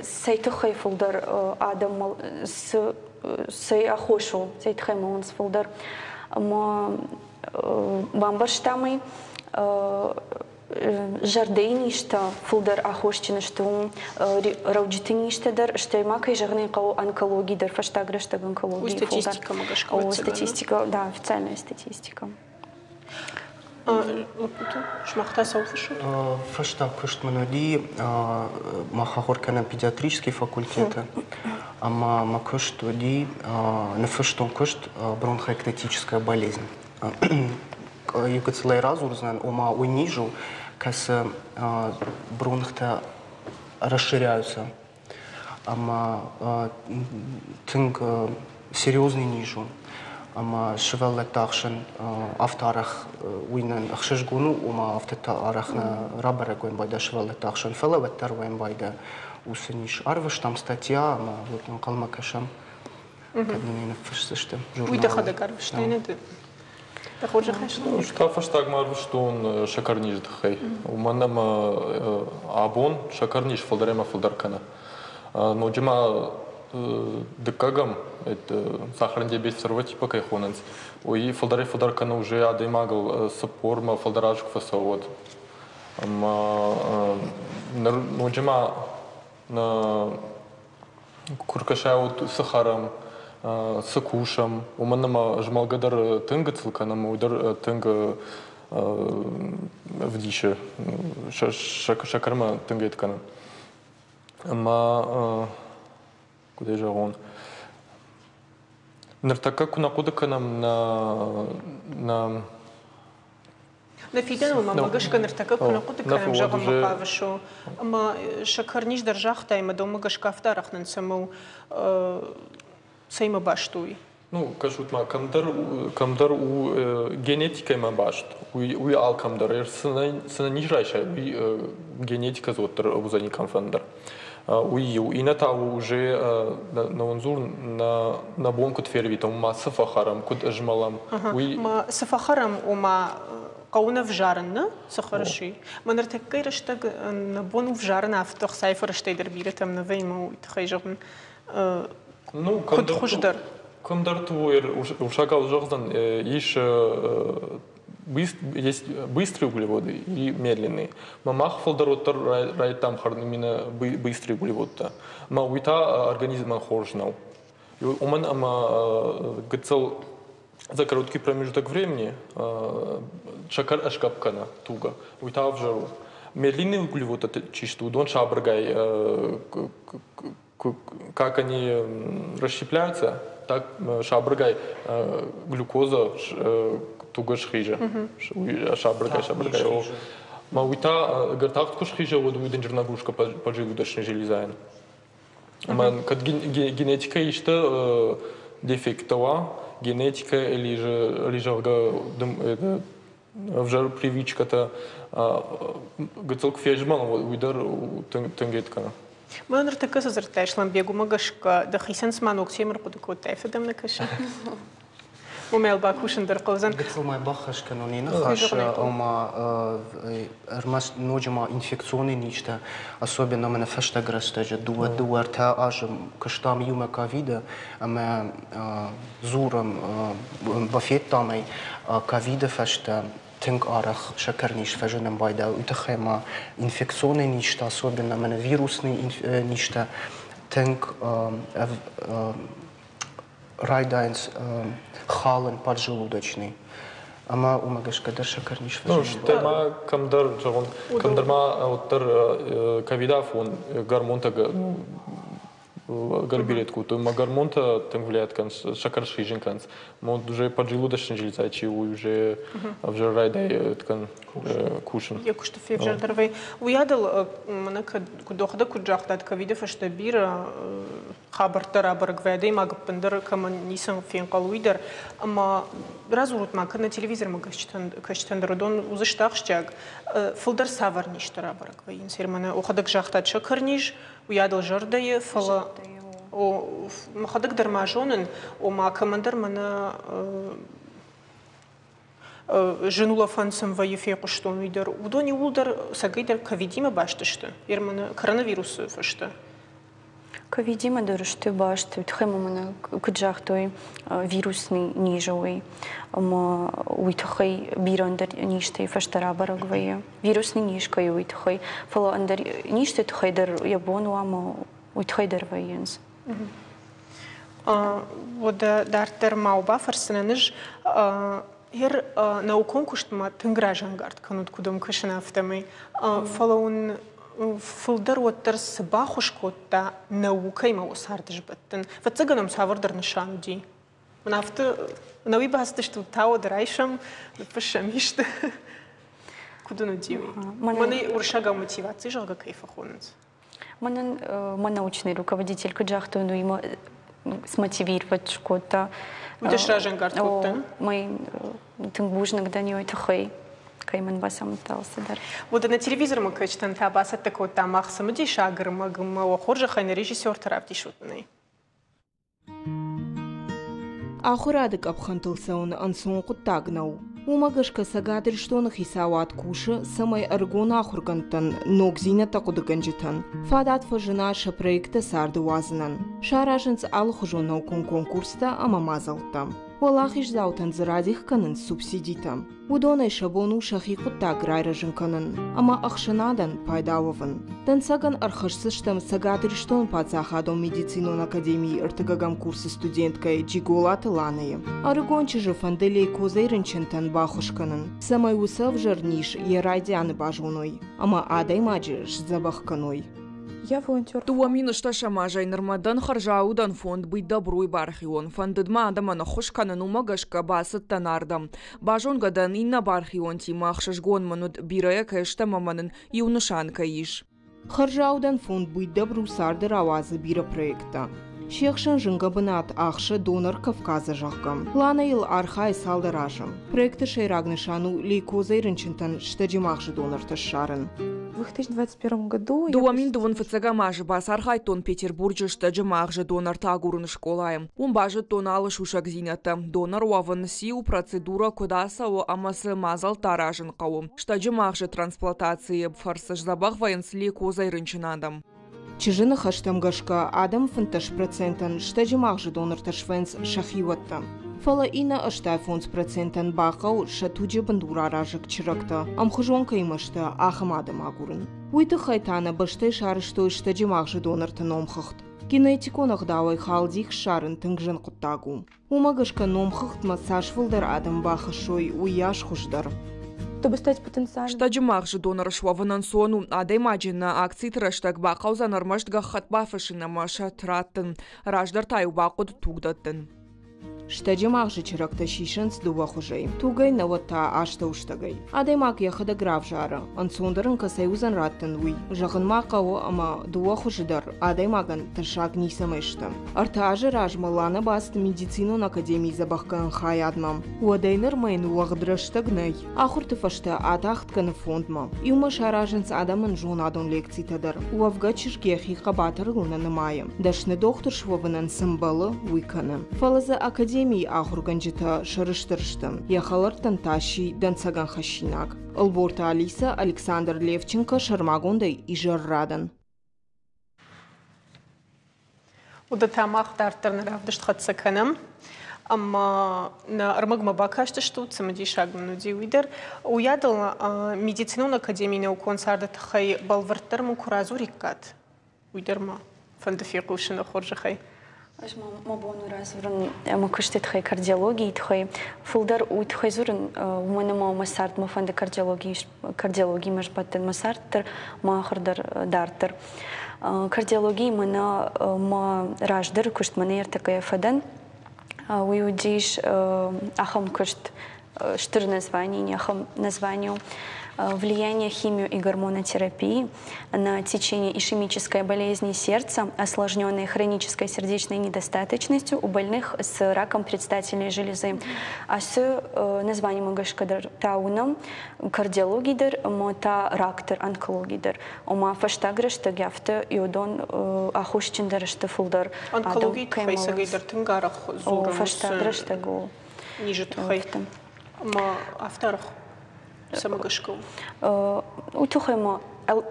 цӕй тыххӕй фылдӕр адӕм цы цӕй аххос у, цӕй тыххӕй мӕлынц фылдӕр. Ӕмӕ бамбӕрстам ӕй, зӕрдӕйы низтӕ фылдӕр аххосджын сты уым, рӕуджыты низтӕ дӕр, стӕй ма, кӕй зӕгъын ӕй хъӕуы, онкологи дӕр, фӕстаг рӕстӕг онкологи фылдӕр. Статистикӕмӕ гӕсгӕ? О, статистика, да, официальная статистика. Лӕппутӕ, сымах та цӕуыл фыссут? Фӕстаг куыст мын уыди, мах ахуыр кӕнӕм педиатрический факультеты, ӕмӕ мӕ куыст уыди, ныффыстон куыст «Бронхоэктатическая болезнь». Иу гыццылӕй радзурдзынӕн, ома уый низ у, кӕцы бронхтӕ расширяются, ӕмӕ тынг серьезный низ у. Ӕмӕ сывӕллӕтты ӕхсӕн афтӕ арӕх уый нын ӕхсызгон у, ома афтӕ арӕх нӕ рабӕрӕг уӕм байда сывӕллӕтты ӕхсӕн, фӕлӕ уӕддӕр уӕм байда уыцы низ. Арвыстам статья ӕмӕ вот ӕнхъӕлмӕ кӕсӕм, кӕд нын ӕй ныффысдзысты. Уый дӕхӕдӕг арвыстай, нӕ ды? Дӕ хорзӕхӕй? Ӕз та фӕстагмӕ арвыстон сӕкӕрнизы тыххӕй. Уымӕн ӕмӕ абон сӕкӕрниз фылдӕр ӕмӕ фылдӕр кӕны. Ноджы ма дыккӕгӕм сахарный диабет второго типа кӕй хонынц, уый фылдӕрӕй фылдӕр кӕны уже адӕймагыл цыппормӕ фылдӕр азы куы фӕцӕуы, уӕд. Ӕмӕ ныр ноджы ма куы ркӕсай, уӕд цы хӕрӕм, цы кусӕм, уымӕн ӕмӕ змӕлгӕ дӕр тынг гыццыл кӕнӕм, уый дӕр тынг ӕвдисы, сӕкӕрмӕ тынг ед кӕны. Ӕмӕ куыдӕй зӕгъон, ныртӕккӕ куы нӕ хъуыды кӕнӕм нӕ нӕ Нӕ фидӕныл мӕ гӕсгӕ ныртӕккӕ куы нӕ хъуыды кӕнӕм, зӕгъынмӕ хъавыс, ӕмӕ сӕкӕрниз дӕр загътай, ӕмӕ дӕумӕ гӕсгӕ афтӕ арӕх нын цӕмӕ у, цӕимӕ баст у уый? Ну, кӕсут ма, кӕмдӕр, кӕмдӕр у генетикӕимӕ баст, уый, уый алкӕмдӕр. Цы нӕ низ райсай, уый генетикӕ дзы уӕддӕр уыдзӕни кӕмфӕндӕр. Уый иу. Иннӕ та у уже нӕ уындзур, нӕ, нӕ бон куыд фервитӕм, ма цы фӕхӕрӕм, куыд ызмӕлӕм. Уый Ма цы фӕхӕрӕм, ома хъӕуы нӕ взарын, нӕ? Цы хӕрыс, уый. Мӕ ныртӕккӕйы рӕстӕг нӕ бон у взарын афтӕ ӕхцайы фӕрӕзтӕй дӕр бирӕтӕм нӕ вӕййы, уый тыххӕй зӕгъын. Ну, куыд хуыздӕр? Кӕмдӕрты уырыссагау зӕгъдзӕн, ис есть быстрые углеводы и медленные. Ма мах фылдӕр уӕддӕр райдыдтам хӕрын именно быстрые углеводтӕ. Ма уый та организмӕн хорз нӕу. Уымӕн ӕмӕ гыццыл за короткий промежуток времени сӕкӕр ӕсгӕпп кӕны тугы. Уый та ӕвзӕр у. Медленные углеводтӕ чи сты, уыдон сабыргай, как они расщепляются, так сабыргай глюкоза тугы схизы. Сабыргай, сабыргай. Ма уый та ӕгӕр тагъд куы схиза, уӕд уый дынджыр нагрузка поджелудочной железайӕн. Ӕмӕ кӕд генетикӕ исты дефекттӕ уа, генетика или же, или зӕгъгӕ, ӕвзӕр привычкӕтӕ гыццыл куы фезмӕлын, уый дӕр тынг ед кӕны. Мӕ ныртӕккӕ цы дзырдтай, Сламбег, уымӕ гӕсгӕ дӕхицӕн цыма ног темӕ ӕрхъуыды кодтай, афтӕ дӕм нӕ кӕсы? Уымӕ бакусын дӕр хъӕудзӕн. Гыццыл ма баххӕст кӕнон йӕ ныхас, ома ӕрмӕст ноджы ма инфекционный низтӕ, особенно мӕнӕ фӕстаг рӕстӕджы дыууӕ дыууӕ ӕртӕ азы куыстам иумӕ ковиды ӕмӕ дзурӕм, бафедтам ӕй, ковиды фӕстӕ тынг арӕх сӕкӕрниз фӕзынын байдайы. Уый тыххӕй ма инфекционный низтӕ, особенно мӕнӕ вирусный низтӕ тынг райдайынц халын поджелудочный. Ӕмӕ уымӕ гӕсгӕ дӕр сӕкӕрниз фӕзыны. Ну, стӕй ма кӕмдӕр, зӕгъон, кӕмдӕр ма уӕддӕр ковидафон гормонтӕ горбилет кодтой. Ма гормонтӕ тынг влиять кӕнынц, сӕкӕр схизын кӕнынц. Мо уже поджелудочная железа, чи уый уже ӕвзӕр райдай ткӕн кусын. Йӕ куысты февзӕрдӕр вӕййы. Уыйадыл мӕнӕ куыд охӕдӕг куыд загътат, ковиды фӕстӕ бирӕ хабӕрттӕ рабӕрӕг вӕййы, адӕймаг ӕппындӕр кӕмӕн ницы фенхъӕл, уый дӕр. Ӕмӕ радзурут ма, кӕд нӕ телевизормӕ кӕсджытӕн дӕр уыдон уыдзысты ахсджиаг, фылдӕр цавӕр низтӕ рабӕрӕг вӕййынц? Мӕнӕ охӕдӕг загътат сӕкӕрниз, уыйадыл зӕрдӕйы, фӕлӕ мӕхӕдӕг дӕр ма зонын, ома кӕмӕндӕр мӕнӕ зын улӕфӕн сын вӕййы фехъуыстон уый дӕр. Уыдон иууылдӕр цӕгӕйдӕр ковидимӕ баст сты, мӕнӕ коронавирусы фӕстӕ. Ковидимӕ дӕр сты баст, уый тыххӕй ма мӕнӕ куыд загътой, вирусный низ уый, ӕмӕ уый тыххӕй бирӕ ӕндӕр низтӕй фӕстӕ рабӕрӕг вӕййы. Вирусный низ кӕй у, уый тыххӕй, фӕлӕ ӕндӕр низты тыххӕй дӕр йӕ бон у ӕмӕ уый тыххӕй дӕр вӕййынц. Уӕдӕ дарддӕр ма бафӕрсынӕн ӕз ер наукон куыстмӕ тынг разӕнгард кӕнут, куыд ӕм кӕсын, афтӕмӕй. Фӕлӕ уын фылдӕр уӕддӕр цы баххуыс кодта наукӕимӕ уӕ царды сбӕттын? Фыццагӕн ӕм цавӕрдӕр нысан уыди? Мӕн афтӕ науи бацыдыстут, та уӕд райсӕм, ныффыссӕм исты. Куыд уын уыди уый? Мӕнӕ уырыссагау мотиваци, зӕгъгӕ, кӕй фӕхонынц? Мӕнӕн мӕ научный руководитель куыд загътон, уый мӕ смотивировать кодта. Уый дӕ сразӕнгард кодта? Мӕ тынг бузныг дӕн уый тыххӕй, кӕй мын бацамыдта алцыдӕр. Уӕдӕ нӕ телевизормӕ кӕсджытӕн та бацӕттӕ кодта мах цымыдисаг ӕрмӕг ӕмӕ уӕ хорзӕхӕй нӕ режиссерты равдисут нӕ. Ахуырады къӕпхӕнтыл цӕуын ӕнцон хъуыддаг нӕу. Уымӕ гӕсгӕ Цӕгат Ирыстоны хицауад кусы, цӕмӕй ӕрыгон ахуыргӕндтӕн, ногдзинӕдтӕ хъуыдыгӕнджытӕн фадат фӕзына сӕ проекттӕ царды уадзынӕн. Саразынц алыхуызон наукон конкурстӕ ӕмӕ мадзӕлттӕ. Уӕлахиздзаутӕн дзы радих кӕнынц субсидитӕ. Уыдонӕй сӕ бон у сӕхи хъуыддаг райрӕзын кӕнын ӕмӕ ӕхсӕнадӕн пайда уӕвын. Дӕнцӕгӕн ӕрхӕсдзыстӕм Цӕгат Ирыстоны паддзахадон медицинон академийы ӕртыккӕгӕм курсы студенткӕ Джиголаты Ланӕйы. Ӕрыгон чызджы фӕнды лейкозӕй рынчынтӕн баххуыс кӕнын, цӕмӕй уыцы ӕвзӕр низ йӕ райдианы базоной ӕмӕ адӕймаджы сдзӕбӕх кӕной. Я волонтер. Дыууӕ мин ӕстдӕсӕм азӕй нырмӕ дӕн хӕрзаудӕн фонд «Быть добру» бархион. Фӕндыд мӕ адӕмӕн ӕххуыс кӕнын, уымӕ гӕсгӕ бацыдтӕн ардӕм. Базонгӕ дӕн иннӕ бархионтимӕ, ӕхсызгон мын уыд, бирӕйӕ кӕй стӕм ӕмӕ нын иу нысан кӕй ис. Хӕрзаудӕн фонд «Быть добру» царды рауадзы бирӕ проекттӕ. Се хсӕн зынгӕ бынат ахсы донор Кавказы, зӕгъгӕ. Ланӕ йыл архайы цалдӕр азы. Проекты сӕйраг нысан у лейкозӕй рынчынтӕн стӕджы магъзы донортӕ ссарын. В две тысячи двадцать первом году я Дыууӕ мин дыууын фыццӕгӕм азы бацархайдтон Петербурджы стӕджы магъзы донортӕ агурыны скъолайы. Уым базыдтон алы сусӕгдзинӕдтӕ. Донор уӕвын циу, процедурӕ куыд ацӕуы ӕмӕ цы мадзӕлттӕ аразын хъӕуы. Стӕджы магъзы трансплантацийы фӕрцы сдзӕбӕх вӕййынц лейкозӕй рынчын адӕм. Чызджы ныхӕстӕм гӕсгӕ адӕм фынддӕс процентӕн стӕджы магъзы донортӕ свӕййынц сӕхиуӕттӕ. Фӕлӕ иннӕ ӕстай фондз процентӕн бахъӕуы сӕ туджы бындураразӕг чырӕгтӕ, ӕмхуызон кӕимӕ сты, ахӕм адӕм агурын. Уый тыххӕй та нӕ бӕстӕй сарӕзтой стӕджы магъзы донорты номхыгъд. Генетикон ӕгъдауӕй халдих ссарын тынг зын хъуыддаг у. Уымӕ гӕсгӕ номхыгъдмӕ цас фылдӕр адӕм бахӕссой, уыйас хуыздӕр. Чтобы стать потенциальным. Стӕджы магъзы донор суӕвын ӕнцон у. Адӕймаджы нӕ акциты рӕстӕг бахъӕудзӕн ӕрмӕст гӕххӕтт бафыссын ӕмӕ сӕ раттын. Раздӕр та-иу бахъуыд туг дӕттын. Стӕджы магъзы чырӕгтӕ сисынц дыууӕ хуызӕй. Тугӕй, науӕд та астӕуыстӕгӕй. Адӕймаг йӕхӕдӕг равзары, ӕнцондӕр ын кӕцӕй уыдзӕн раттын, уый. Зӕгъын ма хъӕуы, ӕмӕ дыууӕ хуызы дӕр адӕймагӕн тӕссаг ницӕмӕй сты. Ӕртӕ азы размӕ Ланӕ бацыд медицинон академийы дзӕбӕхгӕнӕн хайадмӕ. Уӕдӕй нырмӕ йын уӕгъд рӕстӕг нӕй. Ахуырты фӕстӕ атагъд кӕны фондмӕ. Иумӕ саразынц адӕмӕн зонадон лекцитӕ дӕр. Уӕвгӕ чызг йӕхи хъӕбатырыл нӕ нымайы. Дӕсны дохтыр суӕвынӕн цы мбӕлы, уый кӕны. Фӕлӕ дзы академийы ахуыргӕнджытӕ сӕрыстыр сты. Йӕ хӕлӕрттӕн та сси дӕнцӕгӕн хӕссинаг. Ӕлборты Алиса, Александр Левченко, сӕрмагондӕй изӕррадӕн. Уыдӕттӕ мах дарддӕр нӕ равдыст хӕццӕ кӕнӕм. Ӕмӕ нӕ ӕрмӕгмӕ бакастыстут, цымыдисаг мын уыди уый дӕр. Уыйадыл медицинон академийы наукон царды тыххӕй бӕлвырддӕр мын куы радзуриккат, уый дӕр ма фӕнды фехъусыны хорзӕхӕй. Ӕз мӕ бон у радзурын мӕ куысты тыххӕй, кардиологийы тыххӕй. Фылдӕр уый тыххӕй дзурын, уымӕн ӕмӕ мӕ цард мӕ фӕнды кардиологимӕ сбӕттын, мӕ цард дӕр, мӕ ахуыр дӕр дарддӕр. Кардиологийы мӕнӕ мӕ раздӕры куыст мӕнӕ ӕртӕккӕйӕ фӕдӕн. Уый уыдис ахӕм куыст, стыр название, ахӕм название «Влияние химио- и гормонотерапии на течение ишемической болезни сердца, осложненной хронической сердечной недостаточностью у больных с раком предстательной железы». Ацы названиемӕ гӕсгӕ дӕр та уынӕм кардиологи дӕр ӕмӕ та рак дӕр, онкологи дӕр. Ома фӕстаг рӕстӕг афтӕ йодон аххосджындӕр сты фылдӕр. Онкологийы тыххӕй цӕгӕйдӕр тынг арӕх дзурынц. Фӕстаг рӕстӕг у. Низы тыххӕй. Ӕмӕ афтӕ арӕх цӕмӕ гӕсгӕ у? Уый тыххӕй ма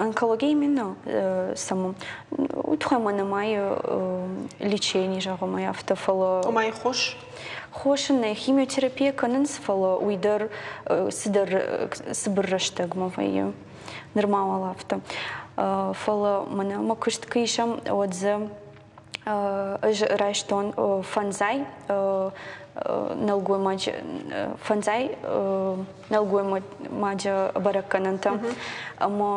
онкология именно саму. Уый тыххӕй ма нымайы лечение, зӕгъӕм, афтӕ, фӕлӕ... Ома хос? Хос нӕ химиотерапия кӕнынц, фӕлӕ уый дӕр цыдӕр цыбыр рӕстӕгмӕ вӕййы. Нырма уал афтӕ. Фӕлӕ мӕнӕ мӕ куыст куы исӕм, уӕд дзы ӕз райстон фӕндзай нӕлгоймаджы фӕндзай нӕлгоймаджы бӕрӕггӕнӕнтӕ ӕмӕ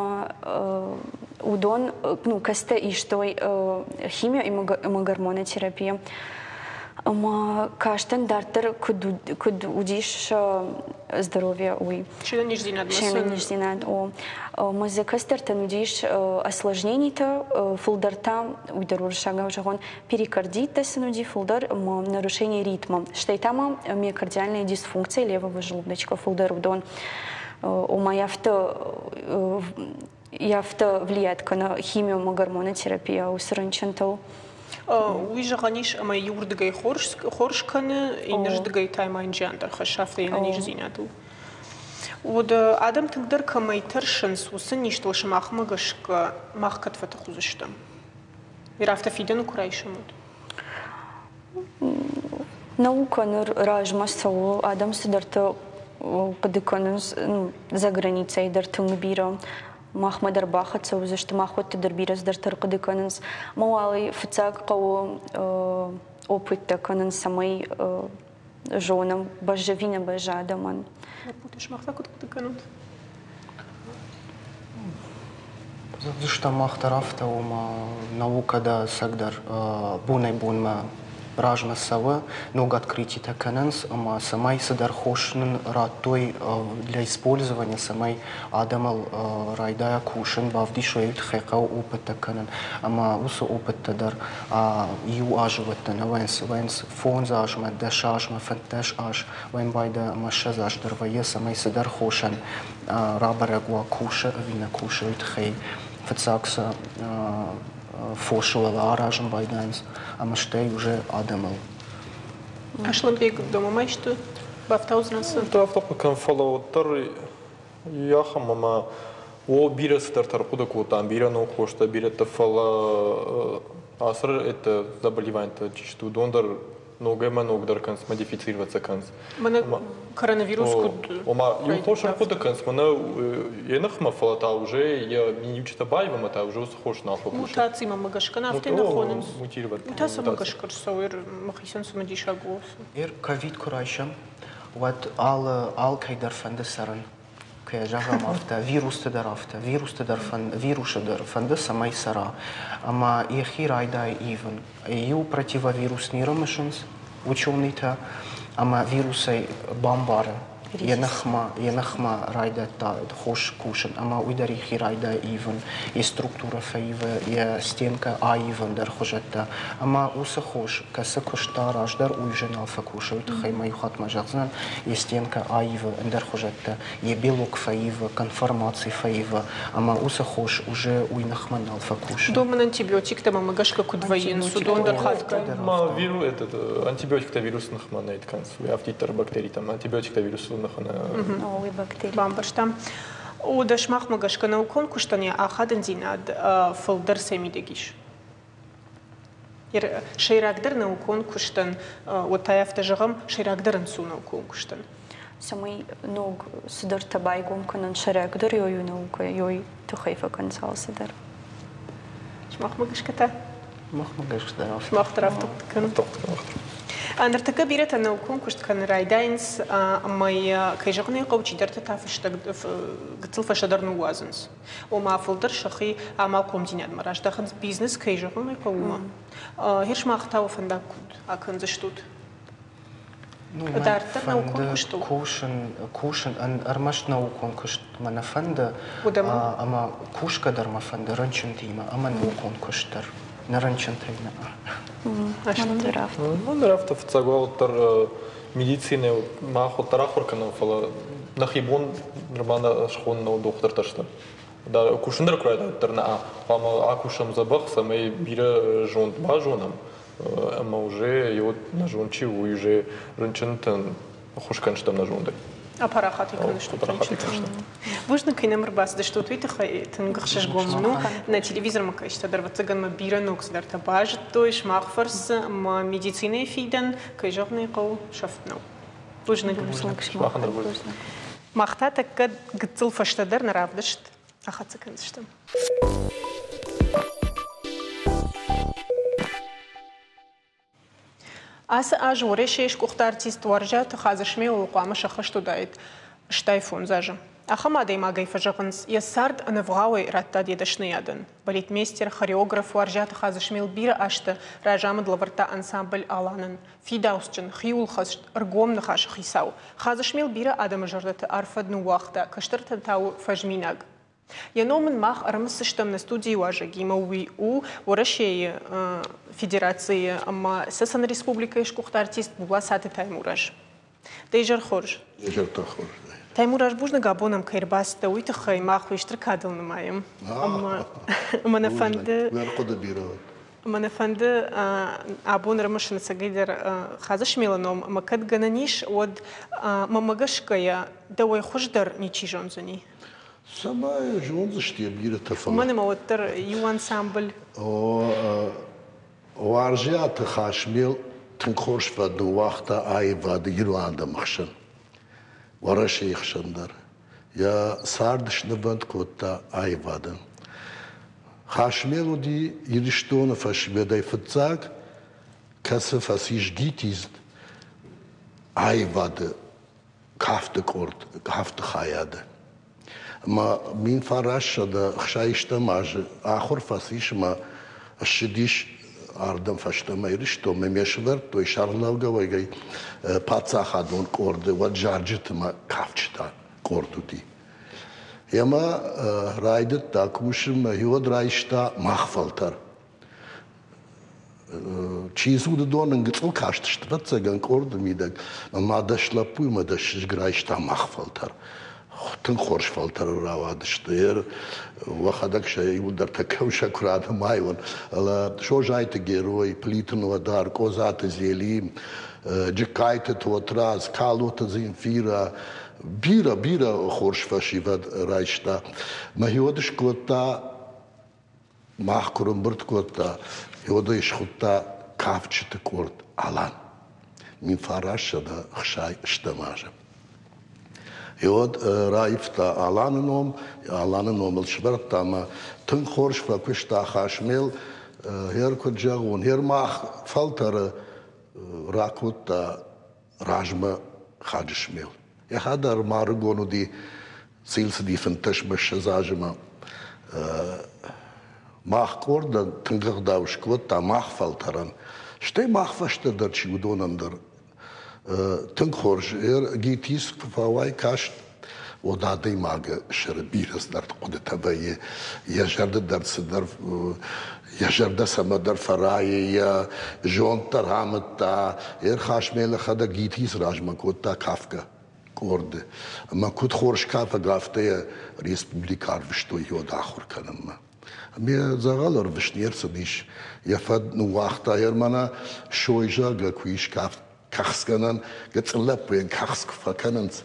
уыдон ну кӕцытӕ истой химио ӕмӕ гормонотерапия ӕмӕ кастӕн дарддӕр куыд куыд уыдис здоровье уый. Се нӕниздзинад. Се нӕниздзинад, о. Ӕмӕ дзы кӕстӕртӕн уыдис осложненитӕ, фылдӕр та, уый дӕр уырыссагау зӕгъон, перикардиттӕ сын уыди фылдӕр ӕмӕ нарушение ритма. Стӕй та ма миокардиальная дисфункция левого желудочка фылдӕр уыдон. Ома афтӕ афтӕ влияет кӕны химио ӕмӕ гормонотерапия уыцы рынчынтыл. Уый зӕгъӕн ис, ӕмӕ иуырдыгӕй хорз, хорз кӕны, иннӕрдыгӕй та ма йын зиан дӕр хӕссы афтӕ йе нӕниздзинадыл. Уӕд адӕм тынгдӕр кӕмӕй тӕрсынц, уыцы низтыл сымахмӕ гӕсгӕ мах кӕд фӕтых уыдзыстӕм? Афтӕ фидӕны куы райсӕм, уӕд? Наука ныр размӕ цӕуы, адӕм цыдӕртӕ хъуыды кӕнынц за границӕй дӕр тынг бирӕ. Махмӕ дӕр бахӕццӕ уыдзысты, махуӕтты дӕр бирӕ цыдӕртӕ ӕрхъуыды кӕнынц. Ӕмӕ уал фыццаг хъӕуы опыттӕ кӕнын, цӕмӕй зонӕм, бӕззы ӕви нӕ бӕззы адӕмӕн. Лӕппутӕ, сымах та куыд хъуыды кӕнут? Зӕгъдзыстӕм мах дӕр афтӕ, ома наукӕ дӕ ӕцӕгдӕр бонӕй-бонмӕ размӕ цӕуы, ног открытитӕ кӕнынц ӕмӕ цӕмӕй цыдӕр хос нын радтой для использования, цӕмӕй адӕмыл райдайа кусын, бавдисой, уый тыххӕй хъӕуы опыттӕ кӕнын. Ӕмӕ уыцы опыттӕ дӕр иу азы уӕддӕр нӕ вӕййынц, вӕййынц фондз азмӕ, дӕс азмӕ, фынддӕс аз, уӕн байда ӕмӕ ссӕдз аз дӕр вӕййы, цӕмӕй цыдӕр хосӕн рабӕрӕг уа, кусы ӕви нӕ кусы, уый тыххӕй фыццаг сӕ фосы уӕлӕ аразын байдайынц ӕмӕ стӕй уже адӕмыл. Асланбег, домӕ исты бафтаудзынӕ цы? Афтӕ хъуыды кӕн, фӕлӕ уӕддӕр ахӕм ӕмӕ о бирӕ цыдӕртӕ ӕрхъуыды кодтам, бирӕ ног хостӕ, бирӕтӕ, фӕлӕ ацы это заболеваниетӕ чи сты, уыдон дӕр ногӕй ӕмӕ ногдӕр кӕнынц, модифицироваться кӕнынц. Мӕнӕ коронавирус куыд? Ома иу хос ӕрхъуыды кӕнынц, мӕнӕ йӕ ныхмӕ, фӕлӕ та уже йӕ миниуджытӕ баив ӕмӕ та уже уыцы хос нал фӕкусы. Мутацимӕ гӕсгӕ афтӕ нӕ хонынц. Мутировать. Уый та цӕмӕ гӕсгӕ рцӕуы, мӕхицӕн цымыдисаг у. Эр ковид куы райсӕм, уӕд алы алкӕй дӕр фӕнды цӕрын. Кӕй зӕгъӕм афтӕ, вирусты дӕр афтӕ, вирусты дӕр фӕнды, вирусы дӕр фӕнды, цӕмӕй цӕра. Ӕмӕ йӕхи райдайы ивын. Иу противовирус не рымысынц ученыйтӕ, ӕмӕ вирусӕй бамбары, йӕ ныхмӕ, йӕ ныхмӕ райдыдта хос кусын, ӕмӕ уый дӕр йӕхи райдайы ивын, йӕ структурӕ фӕивы, йӕ стенкӕ аивын дӕр хуызӕттӕ. Ӕмӕ уыцы хос, кӕцы куыста раздӕр, уый уже нал фӕкусы. Уый тыххӕй ма иу хатт ма зӕгъдзынӕн, йӕ стенкӕ аивы ӕндӕр хуызӕттӕ, йӕ белок фӕивы, конформаци фӕивы, ӕмӕ уыцы хос уже уый ныхмӕ нал фӕкусы. Домын антибиотиктӕ мӕ гӕсгӕ куыд вӕййынц, уыдон дӕр хатгай? Ма виру, этот, антибиотиктӕ вирусы ныхмӕ нӕ кӕнынц, уый афтиддӕр бактеритӕм, антибиотиктӕ вирусы ныхмӕ О, уый бактери. Бамбӕрстам. Уӕдӕ сымахмӕ гӕсгӕ наукон куыстӕн йӕ ахадындзинад фылдӕр цӕй мидӕг ис? Сӕйрагдӕр наукон куыстӕн, уӕд та афтӕ зӕгъӕм, сӕйрагдӕр ӕнцон наукон куыстӕн. Цӕмӕй ног цыдӕртӕ байгом кӕнын сӕйрагдӕр ёй у наукӕ, ёй тыххӕй фӕкӕнынц алцыдӕр. Сымахмӕ гӕсгӕ та? Махмӕ гӕсгӕ дӕр афтӕ. Мах дӕр афтӕ хъуыды кӕнӕм. Ныртӕккӕ бирӕтӕ наукон куыст кӕнын райдайынц, ӕмӕ йӕ, кӕй зӕгъын ӕй хъӕуы, чидӕртӕ та фыстӕг гыццыл фӕстӕдӕр ныууадзынц. Ома фылдӕр сӕхи амалхъомдзинадмӕ раздахынц, бизнес, кӕй зӕгъын ӕй хъӕуы, уымӕ. Гъер сымах та уӕ фӕндаг куыд акӕндзыстут? Дарддӕр наукон куыстыл? Кусын, кусын, ӕрмӕст наукон куыст мӕ нӕ фӕнды, ӕмӕ кусгӕ дӕр мӕ фӕнды рынчынтимӕ ӕмӕ наукон куыст дӕр. Нӕ рынчынтӕй нӕ. Мӕн дӕр афтӕ фыццаг уал уӕддӕр медицинӕ мах уӕддӕр ахуыр кӕнӕм, фӕлӕ нӕхи бон нырма нӕ схонын нӕу дохтыртӕ сты. Кусын дӕр куы райдайддӕр нӕ хъуамӕ акусӕм дзӕбӕх, цӕмӕй бирӕ зонд базонӕм, ӕмӕ уже йод нӕ зонд чи у, уый уже рынчынтӕн ӕххуыс кӕнстӕм нӕ зондӕй. Апарахат кӕныстут рынчынтӕн. Бузныг, кӕй нӕм ӕрбацыдыстут, уый тыххӕй тынг ӕхсызгон мын у. Нӕ телевизормӕ кӕсджытӕ дӕр, ӕвӕццӕгӕн, мӕ бирӕ ног цыдӕртӕ базыдтой сымах фӕрцы, ӕмӕ медицинӕйы фидӕн, кӕй зӕгъын ӕй хъӕуы, сӕфт нӕу. Бузныг. Сымахӕн дӕр бузныг. Мах та тӕккӕ гыццыл фӕстӕдӕр нӕ равдыст ахӕццӕ кӕндзыстӕм. Ацы аз Уӕрӕсейы сгуыхт артист Уарзиаты Хадзысмелыл хъуамӕ сӕххӕст уыдаид стай фондз азы. Ахӕм адӕймагӕй фӕзӕгъынц, йӕ цард ӕнӕвгъауӕй радта йӕ дӕсныйадӕн. Балетмейстер, хореограф Уарзиаты Хадзысмел бирӕ азты разамынд лӕвӕрдта ансамбль «Аланӕн». Фидауцджын, хиуылхӕст, ӕргом ныхасы хицау. Хадзысмел бирӕ адӕмы зӕрдӕты арф фӕд ныууагъта, кӕстӕртӕн та у фӕзминаг. Йӕ ном ын мах ӕрымысдзыстӕм нӕ студийы уазӕгимӕ. Уый у Уӕрӕсейы Федерацийы ӕмӕ Цӕцӕны Республикӕйы сгуыхт артист Булацаты Таймураз. Дӕ изӕр хорз. Изӕртӕ хорз. Таймураз, бузныг, абон ӕм кӕй ӕрбацыдтӕ, уый тыххӕй мах уый стыр кадыл нымайӕм. Ӕмӕ нӕ фӕнды... Ӕрхъуыды бирӕ уыд. Ӕмӕ нӕ фӕнды абон ӕрымысын ӕцӕгӕйдӕр Хадзысмелы ном, ӕмӕ кӕд гӕнӕн ис, уӕд мӕмӕ гӕсгӕйӕ дӕуӕй хуыздӕр ничи зондзӕни. Цӕмӕй зондзысты йӕ бирӕтӕ, фӕлӕ... Уымӕн ӕмӕ уӕддӕр иу ансамбль. Уарзиаты Хасмел тынг хорз фӕд ныууагъта аивады ирон адӕмы хсӕн, Уӕрӕсейы хсӕн дӕр. Йӕ цард снывӕнд кодта аивадӕн. Хасмел уыди Ирыстоны фӕсивӕдӕй фыццаг, кӕцы фӕцис ГИТИЗ аивады кафты къорд, кафты хайады. Ӕмӕ мин фарассӕдӕ ӕхсайстӕм азы ахуыр фӕцис ӕмӕ ссыдис ардӕм фӕстӕмӕ Ирыстонмӕ. Ме сӕвӕрдтой сӕргълӕугӕгӕй паддзахадон къорды, уӕд зарджыты мӕ кафджытӕ къорд уыди. Ӕмӕ райдыдта кусынмӕ, уӕд райста мах фӕлтӕр. Чи дзы уыдон ын гыцъыл кастысты, ӕвӕццӕгӕн, къорды мидӕг. Ӕмӕ дӕс лӕппуйы ӕмӕ дӕс чызг райста мах фӕлтӕр. Тынг хорз фӕлтӕры рауадысты. Уӕхӕдӕг сӕ иуылдӕр тӕккӕ сӕ куы ранымайон. Созайты Герой, Плиты Нодар, Къозаты Зели, Джыккайты Тотрадз, Калоты Земфира, бирӕ, бирӕ хорз фӕсивӕд райста. Мӕхиуӕд скодта, мах куы рымбырд кодта, уӕд схуыдта кафджыты къорд «Алан». Мин фарассӕдӕ ӕхсай стӕм азы. Уӕд раивта Аланы ном, Аланы номыл сӕвӕрдта ӕмӕ тынг хорз фӕкуыста Хасмел, гъер куыд зӕгъон, гъер мах фӕлтӕры ракодта размӕ Хаджысмел. Йӕхӕдӕг ма ӕрыгон уыди, цил цыди фынддӕсмӕ ссӕдз азы мах къордӕн тынг ӕгъдау скодта мах фӕлтӕрӕн, стӕй мах фӕстӕ дӕр чи уыдонӕн дӕр. Тынг хорз, ГИТИС куы фӕуай каст, уӕд адӕймагы сӕры бирӕ цыдӕр хъуыдытӕ вӕййы, йӕ зӕрдӕ дӕр цыдӕр, йӕ зӕрдӕ цӕмӕдӕр фӕрайы, йӕ зонд дӕр амыдта. Ӕрхасмел йӕхӕдӕг ГИТИС размӕ кодта кафгӕ къорды. Ӕмӕ куыд хорз кафӕг, афтӕ йӕ республикӕ арвыстой йод ахуыр кӕнынмӕ. Ме дзӕгъӕл ӕрвыст не рцыдис, йӕ фӕд ныууагъта, йӕ мӕнӕ сой, зӕгъгӕ, куы ис кафт, кӕхцгӕнӕн, гыццыл лӕппуйӕн кӕхц куы фӕкӕнынц,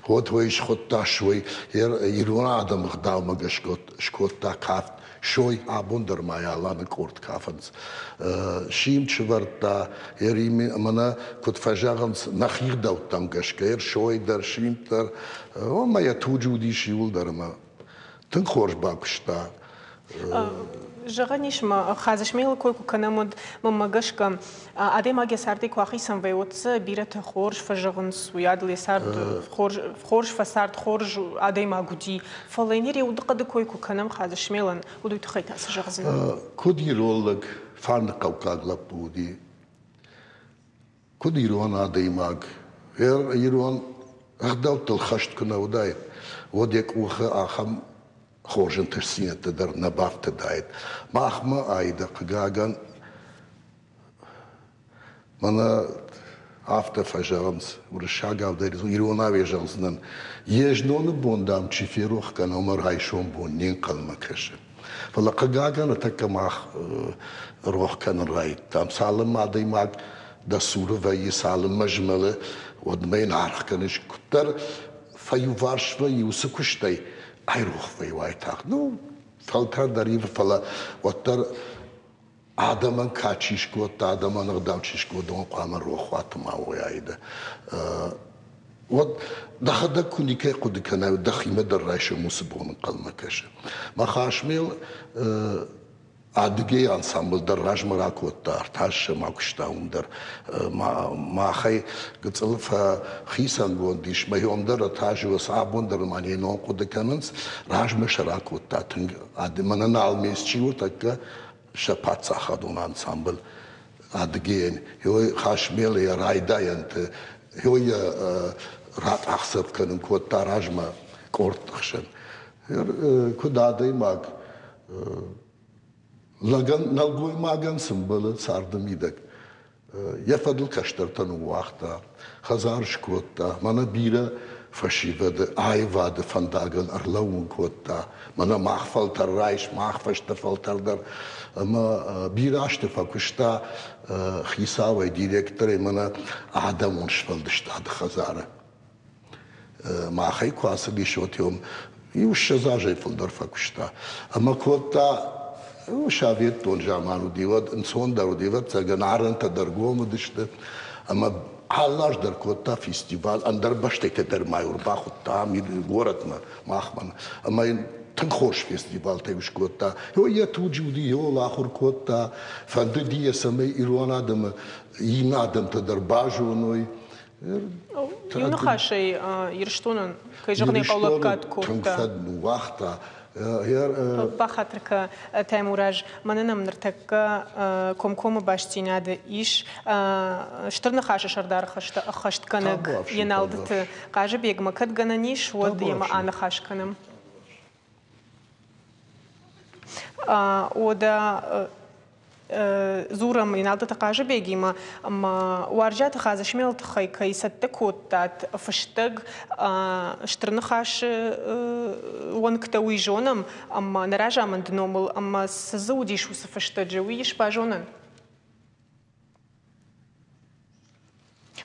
уӕд уый схуыдта сой, ирон адӕмы ӕгъдаумӕ гӕсгӕ скодта кафт. Сой абон дӕр ма йӕ Аланы къорд кафынц. Симд сывӕрдта, мӕнӕ куыд фӕзӕгъынц, нӕхи ӕгъдӕуттӕм гӕсгӕ, сой дӕр, симд дӕр, ӕмӕ йӕ туджы уыдис иуылдӕр ӕмӕ тынг хорз бакуыста. Зӕгъӕн ис ма Хадзысмелы кой куы кӕнӕм, уӕд мӕнмӕ гӕсгӕ адӕймаг йӕ цардӕй куы ахицӕн вӕййы, уӕд дзы бирӕтӕ хорз фӕзӕгъынц, уыйадыл йӕ цард хорз, хорз фӕцард, хорз адӕймаг уыди. Фӕлӕ йын йӕ удыхъӕды кой куы кӕнӕм Хадзысмелӕн, уӕд уый тыххӕй та цы зӕгъдзынӕ? Куыд ирон лӕг, фарныхъӕуккаг лӕппу уыди, куыд ирон адӕймаг, ирон ӕгъдӕуттыл хӕст куы нӕ уыдаид, уӕд йӕ къухы ахӕм хорз ӕнтыстдзинӕдтӕ дӕр нӕ бафтыдаид. Махмӕ айда, хъыгагӕн, мӕнӕ афтӕ фӕзӕгъынц, уырыссагау дӕр иронау йӕ зӕгъдзынӕн, йе зноны бон, дам, чи ферох кӕна, уымӕ райсом бон не нхъӕлмӕ кӕсы. Фӕлӕ хъыгагӕн, ныртӕккӕ мах рох кӕнын райдыдтам. Цалынмӕ адӕймаг дӕ цуры вӕййы, цалынмӕ змӕлы, уӕдмӕ йын аргъ кӕныс. Куыддӕр фӕиуварс вӕййы уыцы куыстӕй, айрох вӕййы уайтагъд. Ну, фӕлтӕр дӕр ивы, фӕлӕ уӕддӕр адӕмӕн кад чи скодта, адӕмӕн ӕгъдау чи скодта, уый хъуамӕ рохуаты ма уой айда. Уӕд дӕхӕдӕг куы никӕй хъуыды кӕнай, уӕд дӕхимӕ дӕр райсом уыцы бон ӕнхъӕлмӕ кӕсы. Махасмел Адыгейы ансамбль дӕр размӕ ракодта, ӕртӕ ма куыста уым дӕр. Махӕй гыцъыл фӕхицӕнгонд ис, мӕ дӕр ӕртӕ абон дӕр ма не ном хъуыды кӕнынц, размӕ сӕ ракодта тынг. Мӕнӕ налмес чи у, тӕккӕ сӕ паддзахадон ансамбль Адыгейӕн. Йой Хасмел йӕ райдайӕнты, йой ракъахдзӕф кӕнын кодта размӕ къордты хсӕн. Куыд адӕймаг, лӕгӕн, нӕлгоймагӕн цы мбӕлы царды мидӕг. Йӕ фӕдыл кӕстӕртӕ ныууагъта, хӕдзар скодта, мӕнӕ бирӕ фӕсивӕды аивады фӕндагыл ӕрлӕууын кодта. Мӕнӕ мах фӕлтӕр райс, мах фӕстӕ фӕлтӕр дӕр. Ӕмӕ бирӕ азты фӕкуыста хицауӕй, директорӕй мӕнӕ адӕмон сфӕлдыстады хӕдзары. Махӕй куы ацыдис, уӕд иу ссӕдз азӕй фылдӕр фӕкуыста. Ӕмӕ кодта советон заман уыди, уӕд ӕнцондӕр уыди, ӕвӕццӕгӕн, арӕнтӕ дӕр гом уыдысты. Ӕмӕ алы аз дӕр кодта фестиваль, ӕндӕр бӕстӕтӕ дӕр ма ӕрбахуыдта ам горӕтмӕ, махмӕ. Ӕмӕ йын тынг хорз фестивалтӕ скодта. Йой йӕ туджы уыди, йол ахуыр кодта, фӕндыди йӕ, цӕмӕй ирон адӕмы иннӕ адӕмтӕ дӕр базоной. Иу ныхасӕй Ирыстонӕн, кӕй зӕгъын ӕй хъӕуы, лӕггад кодта. Тынг фӕд ныууагъта. Бахатыр кӕ, Таймураз, мӕнӕ нӕм ныртӕккӕ комкоммӕ бастдзинады ис Стыр Ныхасы сӕрдары хӕстӕ ӕххӕстгӕнӕг Еналдыты Хъазыбегмӕ. Кӕд гӕнӕн ис, уӕд йемӕ аныхас кӕнӕм. Уӕдӕ дзурӕм Еналдыты Хъазыбегимӕ, ӕмӕ Уарзиаты Хадзысмелы тыххӕй кӕй цӕттӕ кодтат фыстӕг Стыр Ныхасы уӕнгтӕ, уый зонӕм, ӕмӕ нӕ разамынды номыл, ӕмӕ цы дзы уыдис уыцы фыстӕджы, уый ис базонӕн?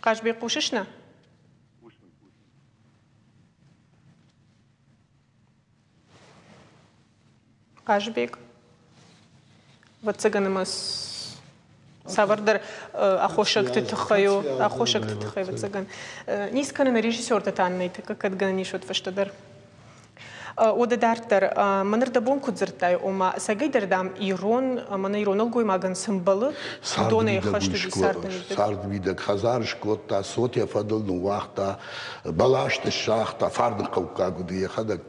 Хъазбег, хъусыс нӕ? Хъазыбег, ӕвӕццӕгӕн ӕмӕ цавӕрдӕр аххосӕгты тыххӕй у, аххосӕгты тыххӕй, ӕвӕццӕгӕн. Ницы кӕны нӕ режиссертӕ та нӕй, тӕккӕ кӕд гӕнӕн ис, уӕд фӕстӕдӕр. Уӕдӕ дарддӕр, мӕныр дӕ бон куыд дзырдтай, ома, ӕцӕгӕйдӕр, дам, ирон, мӕнӕ ирон нӕлгоймагӕн цы мбӕлы, уыдонӕй ӕххӕст уыди царды мидӕг. Царды мидӕг хӕдзар скодта, цот йӕ фӕдыл ныууагъта, бӕлӕсты сагъта, фарныхъӕуккаг уыди йӕхӕдӕг.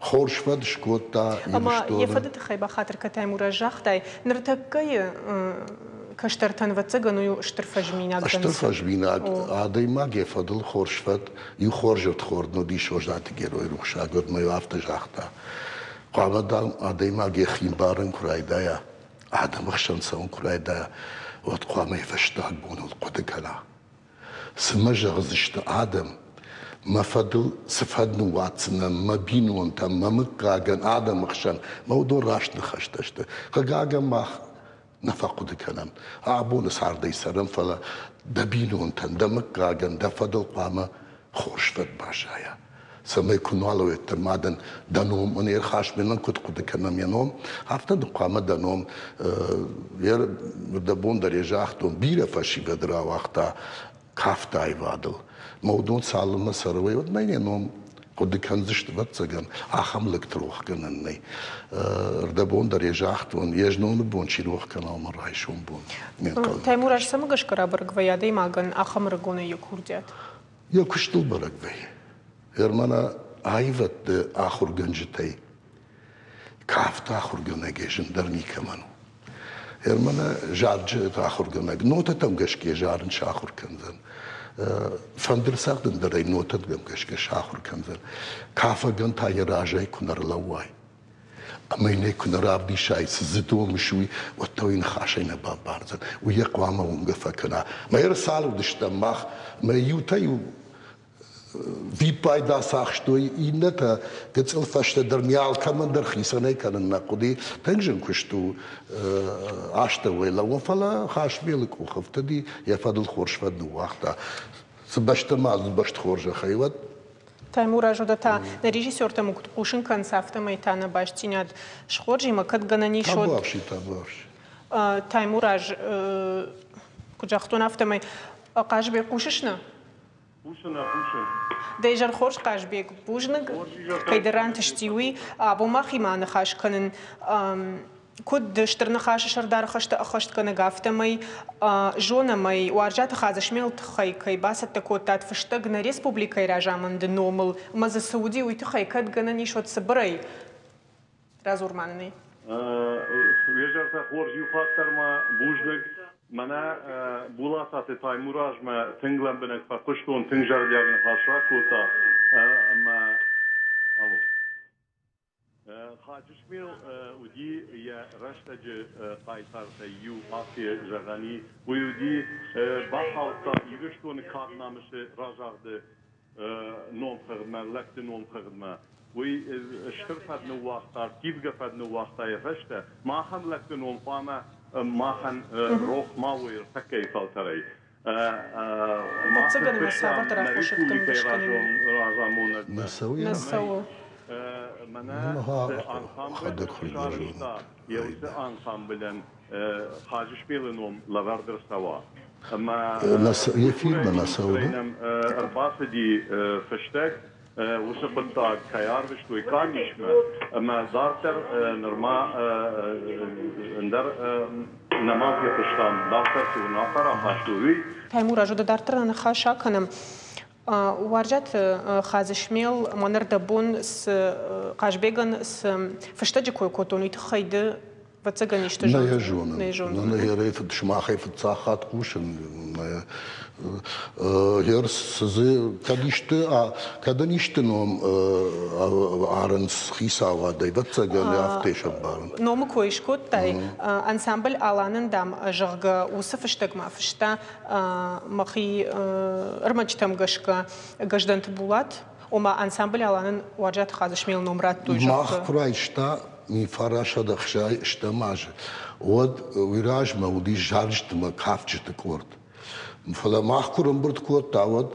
Хорз фӕд скодта Ӕмӕ йӕ фӕды тыххӕй бахатыр кӕ, Таймураз, загътай, ныртӕккӕйы кӕстӕртӕн, ӕвӕццӕгӕн, у стыр фӕзминаг. Стыр фӕзминаг. Адӕймаг йӕ фӕдыл хорз фӕд, иу хорз ӕрдхорд уыди Созаты герой рухсаг, уӕд ма иу афтӕ загъта. Хъуамӕ, дам, адӕймаг йӕхи мбарын куы райдайа, адӕмы хсӕн цӕуын куы райдайа, уӕд хъуамӕ йӕ фӕстаг боныл хъуыды кӕна. Цы мӕ зӕгъдзысты адӕм, мӕ фӕдыл цы фӕд ныууадздзынӕн мӕ бинонтӕм, мӕ мыггагӕн, адӕмы хсӕн, мӕ уыдон раст ныхӕстӕ сты. Хъыгагӕн, мах нӕ фӕхъуыды кӕнӕм. Абоны цардӕй цӕрӕм, фӕлӕ дӕ бинонтӕн, дӕ мыггагӕн, дӕ фӕдыл хъуамӕ хорз фӕд баззайа. Цӕмӕй куы нуал уӕддӕр ма дын дӕ ном ын ӕрхӕсмӕнӕн куыд хъуыды кӕнӕм йӕ ном, афтӕ дын хъуамӕ дӕ ном дӕ бон дӕр йӕ загътон, бирӕ фӕсивӕд рауагъта кафты аивадыл. Мӕ уыдон цалынмӕ цӕрой, уӕдмӕ йӕ ном Хъуыды кӕндзысты, ӕвӕццӕгӕн, ахӕм лӕгты рох кӕнӕн нӕй. Ӕрдӕбон дӕр йӕ загътон, йе зноны бон чи рох кӕна, уымӕн райсом бон. Таймураз, цӕмӕ гӕсгӕ рабӕрӕг вӕййы адӕймагӕн ахӕм ӕрыгонӕй йӕ курдиат? Йӕ куыстыл бӕрӕг вӕййы. Ӕрмӕна аивӕдты ахуыргӕнджытӕй кафты ахуыргӕнӕгӕй зындӕр никӕмӕн у. Ӕрмӕна зарджыты ахуыргӕнӕг нотӕтӕм гӕсгӕ зарын сахуыр кӕндзӕн. Фӕндыр цӕгъдын дӕр ӕй нотӕтӕм гӕсгӕ сахуыр кӕндзӕн. Кафӕгӕн та йӕ разӕй куы нӕ рлӕууай, ӕмӕ йын ӕй куы нӕ равдисай, цы дзы домыс, уый, уӕд та уый ныхасӕй нӕ бамбардзӕн. Уый йӕ хъуамӕ уынгӕ фӕкӕна. Мӕ ӕрцал уыдыстӕм мах, мӕ иутӕ-иу виппайды ацахстой, иннӕтӕ гыццыл фӕстӕдӕр не алкӕмӕн дӕр хицӕнӕй кӕнын нӕ хъуыди. Тынг зын куыст у астӕуӕй лӕууын, фӕлӕ Хасмелы къух ӕфтыди, йӕ фӕдыл хорз фӕд ныууагъта. Цы бӕстӕ ма бӕст хорзӕхӕй, уӕд Таймураз, уӕдӕ та нӕ режиссертӕм куыд хъусын кӕнынц, афтӕмӕй та нӕ бастдзинад схорз ӕмӕ кӕд гӕнӕн ис, уӕд Табуафси, табуафси. Таймураз, куыд загътон, афтӕмӕй Хъазыбег, хъусыс нӕ? Хъусын, хъусын. Дӕ изӕр хорз, Хъазбег, бузныг, кӕйдӕр рантысти, уый. Абон махимӕ аныхас кӕнын куыд Стыр Ныхасы сӕрдары хӕстӕ ӕххӕстгӕнӕг, афтӕмӕй зонӕм ӕй, Уарзиаты Хадзысмелы тыххӕй кӕй бацӕттӕ кодтат фыстӕг нӕ республикӕйы разамынды номыл, ӕмӕ дзы цы уыди, уый тыххӕй кӕд гӕнӕн ис, уӕд цыбырӕй радзур ма нын ӕй. Уе зӕртӕ хорз, иу хатт дӕр ма бузныг. Мӕнӕ Булататы Таймуразмӕ тынг лӕмбынӕг фӕхъуыстон, тынг зӕрдиаг ныхас ракодта ӕмӕ алло. Хаджысмел уыди йӕ рӕстӕджы хъайтартӕй иу, афтӕ зӕгъӕн и. Уый уыди, бахаудта Ирыстоны кад намысы разагъды номхыгъдмӕ, лӕгты номхыгъдмӕ. Уый стыр фӕд ныууагъта, ӕрттивгӕ фӕд ныууагъта йӕ фӕстӕ. Махӕн лӕгты ном хъуамӕ махӕн рох ма уой ӕртӕккӕйы фӕлтӕрӕй. Ӕвӕццӕгӕн ӕмӕ цавӕрдӕр аххосӕгтӕм гӕсгӕ разамонӕг нӕ цӕуы. Нӕ цӕуы. Мӕнӕ цы ансамбль сарӕзта, йӕ уыцы ансамблӕн Хаджысмелы ном лӕвӕрд ӕрцӕуа. Ӕмӕ Ефирмӕ нӕ цӕуы. Нӕм ӕрбацыди фыстӕг, уыцы хъуыддаг кӕй арвыстой къамисмӕ, ӕмӕ дарддӕр нырма ӕндӕр нӕма фехъуыстам, дарддӕр цы уынаффӕ рахастой, уый. Таймураз, уӕдӕ дарддӕр нӕ ныхас акӕнӕм. Уарзиаты Хадзысмел мӕн ӕрдӕбон цы Хъазбегӕн цы фыстӕджы кой кодтон, уый тыххӕй ды ӕвӕццӕгӕн исты Нӕ йӕ зонын. Нӕ зонын. Нӕ йӕ сымахӕй фыццаг хатт хъусын. Гъер цы кӕд исты, кӕд ын исты ном арынц хицауадӕй, ӕвӕццӕгӕн, афтӕ сӕмбарын. Номы кой скодтай, ансамбль Аланӕн, дам, зӕгъгӕ, уыцы фыстӕгмӕ фыста мӕхи ӕрмӕджытӕм гӕсгӕ Гӕздӕнты Булат, ома ансамбль Аланӕн Уарзиаты Хадзысмелы ном радтой, зӕгъгӕ. Мах куы райста мин фарастсӕдӕ ӕхсай ӕстӕм азы, уӕд уый размӕ уыдис зарджыты ӕмӕ кафджыты къорд. Фӕлӕ мах куы ӕрӕмбырд кодта, уӕд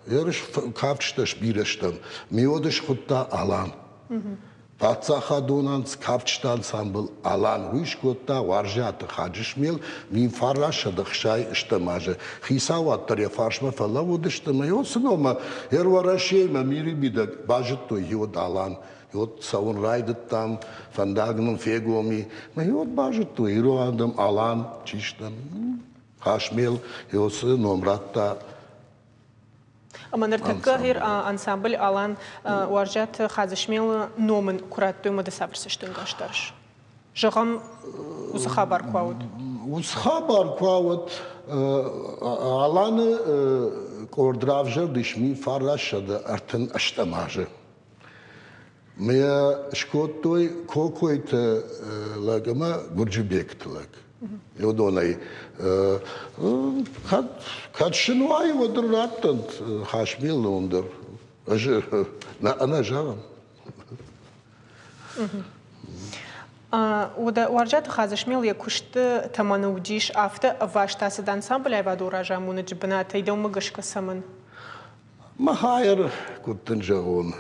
ерыс кафджытӕ сбирӕ стӕм. Ме уӕд схуыдта Алан. Паддзахадон кафджыты ансамбль Алан уый скодта Уарзиаты Хаджысмел мин фарастсӕдӕ ӕхсай ӕстӕм азы. Хицауад дӕр йӕ фарсмӕ фӕлӕууыдысты ӕмӕ йод цы номӕ йӕ Уӕрӕсеймӕ мири мидӕг базыдтой йод Алан. Йод цӕуын райдыдтам, фӕндаг нын фегом и. Мӕ йод базыдтой ирон адӕм Алан чи стӕм. Хасмел йод цы ном радта. Ӕмӕ ныртӕккӕ гъер ансамбль Алан Уарзиаты Хадзысмелы ном ын куы радтой, ӕмӕ ды цавӕр цӕстӕнгас дарыс? Зӕгъӕм, уыцы хабар куы ауыд. Уыцы хабар куы ауыд, Аланы къорд равзӕрдис мин фарастсӕдӕ ӕртын ӕстӕм азы. Мӕ скодтой Кокойты лӕг ӕмӕ Гуырджибегты лӕг. Уыдонӕй кӕд, кӕд сын уай, уӕд ын раттӕнт Хасмелы ном дӕр. Ӕз ӕнӕ зӕгъын. Уӕдӕ Уарзиаты Хадзысмел йӕ куысты тӕмӕны уыдис, афтӕ ӕваст ацыд ансамбль аивадон разамонӕджы бынатӕй, дӕумӕ гӕсгӕ цӕмӕн? Махайыр, куыд дын зӕгъон,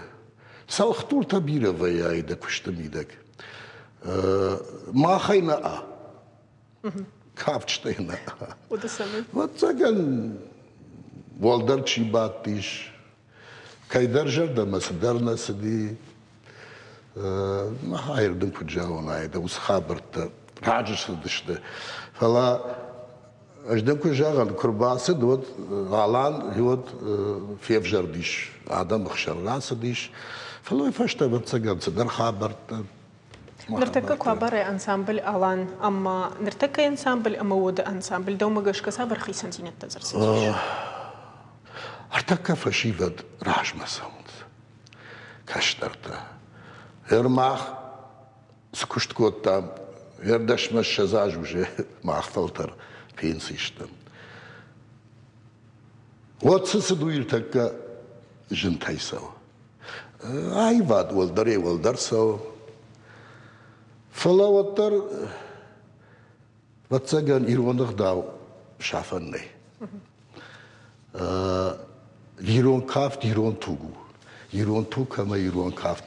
цӕлхдуртӕ бирӕ вӕййы дӕ куысты мидӕг. Махӕй нӕ а. Кафджытӕй нӕ а. Уӕдӕ цӕмӕн? Ӕвӕццӕгӕн, уӕлдӕр чи бадтис, Кӕйдӕр зӕрдӕмӕ цыдӕр нӕ цыди. Хайыр дын куыд зӕгъон, айда уыцы хабӕрттӕ раджы цыдысты. Фӕлӕ ӕз дын куы зӕгъын, куы рбацыд, уӕд Алан уӕд февзӕрдис, адӕмы хсӕн рацыдис. Фӕлӕ уый фӕстӕ, ӕвӕццӕгӕн, цыдӕр хабӕрттӕ. Ныртӕккӕ куы абарай ансамбль Алан ӕмӕ ныртӕккӕйы ансамбль ӕмӕ уӕды ансамбль, дӕумӕ гӕсгӕ цавӕр хицӕндзинӕдтӕ дзы ӕрцыдис? Ӕртӕккӕ фӕсивӕд размӕ цӕуынц, кӕстӕртӕ. Ӕрмах цы куыст кодтам, ӕрдӕсмӕ ссӕдз аз уже мах фӕлтӕр пенси стӕм. Уӕд цы цыд, уый ӕртӕккӕ зынтӕй цӕуы. Аивад уӕлдӕрӕй уӕлдӕр цӕуы. Фӕлӕ уӕддӕр, ӕвӕццӕгӕн, ирон ӕгъдау сафӕн нӕй. Ирон кафт ирон туг у. Ирон туг ӕмӕ ирон кафт.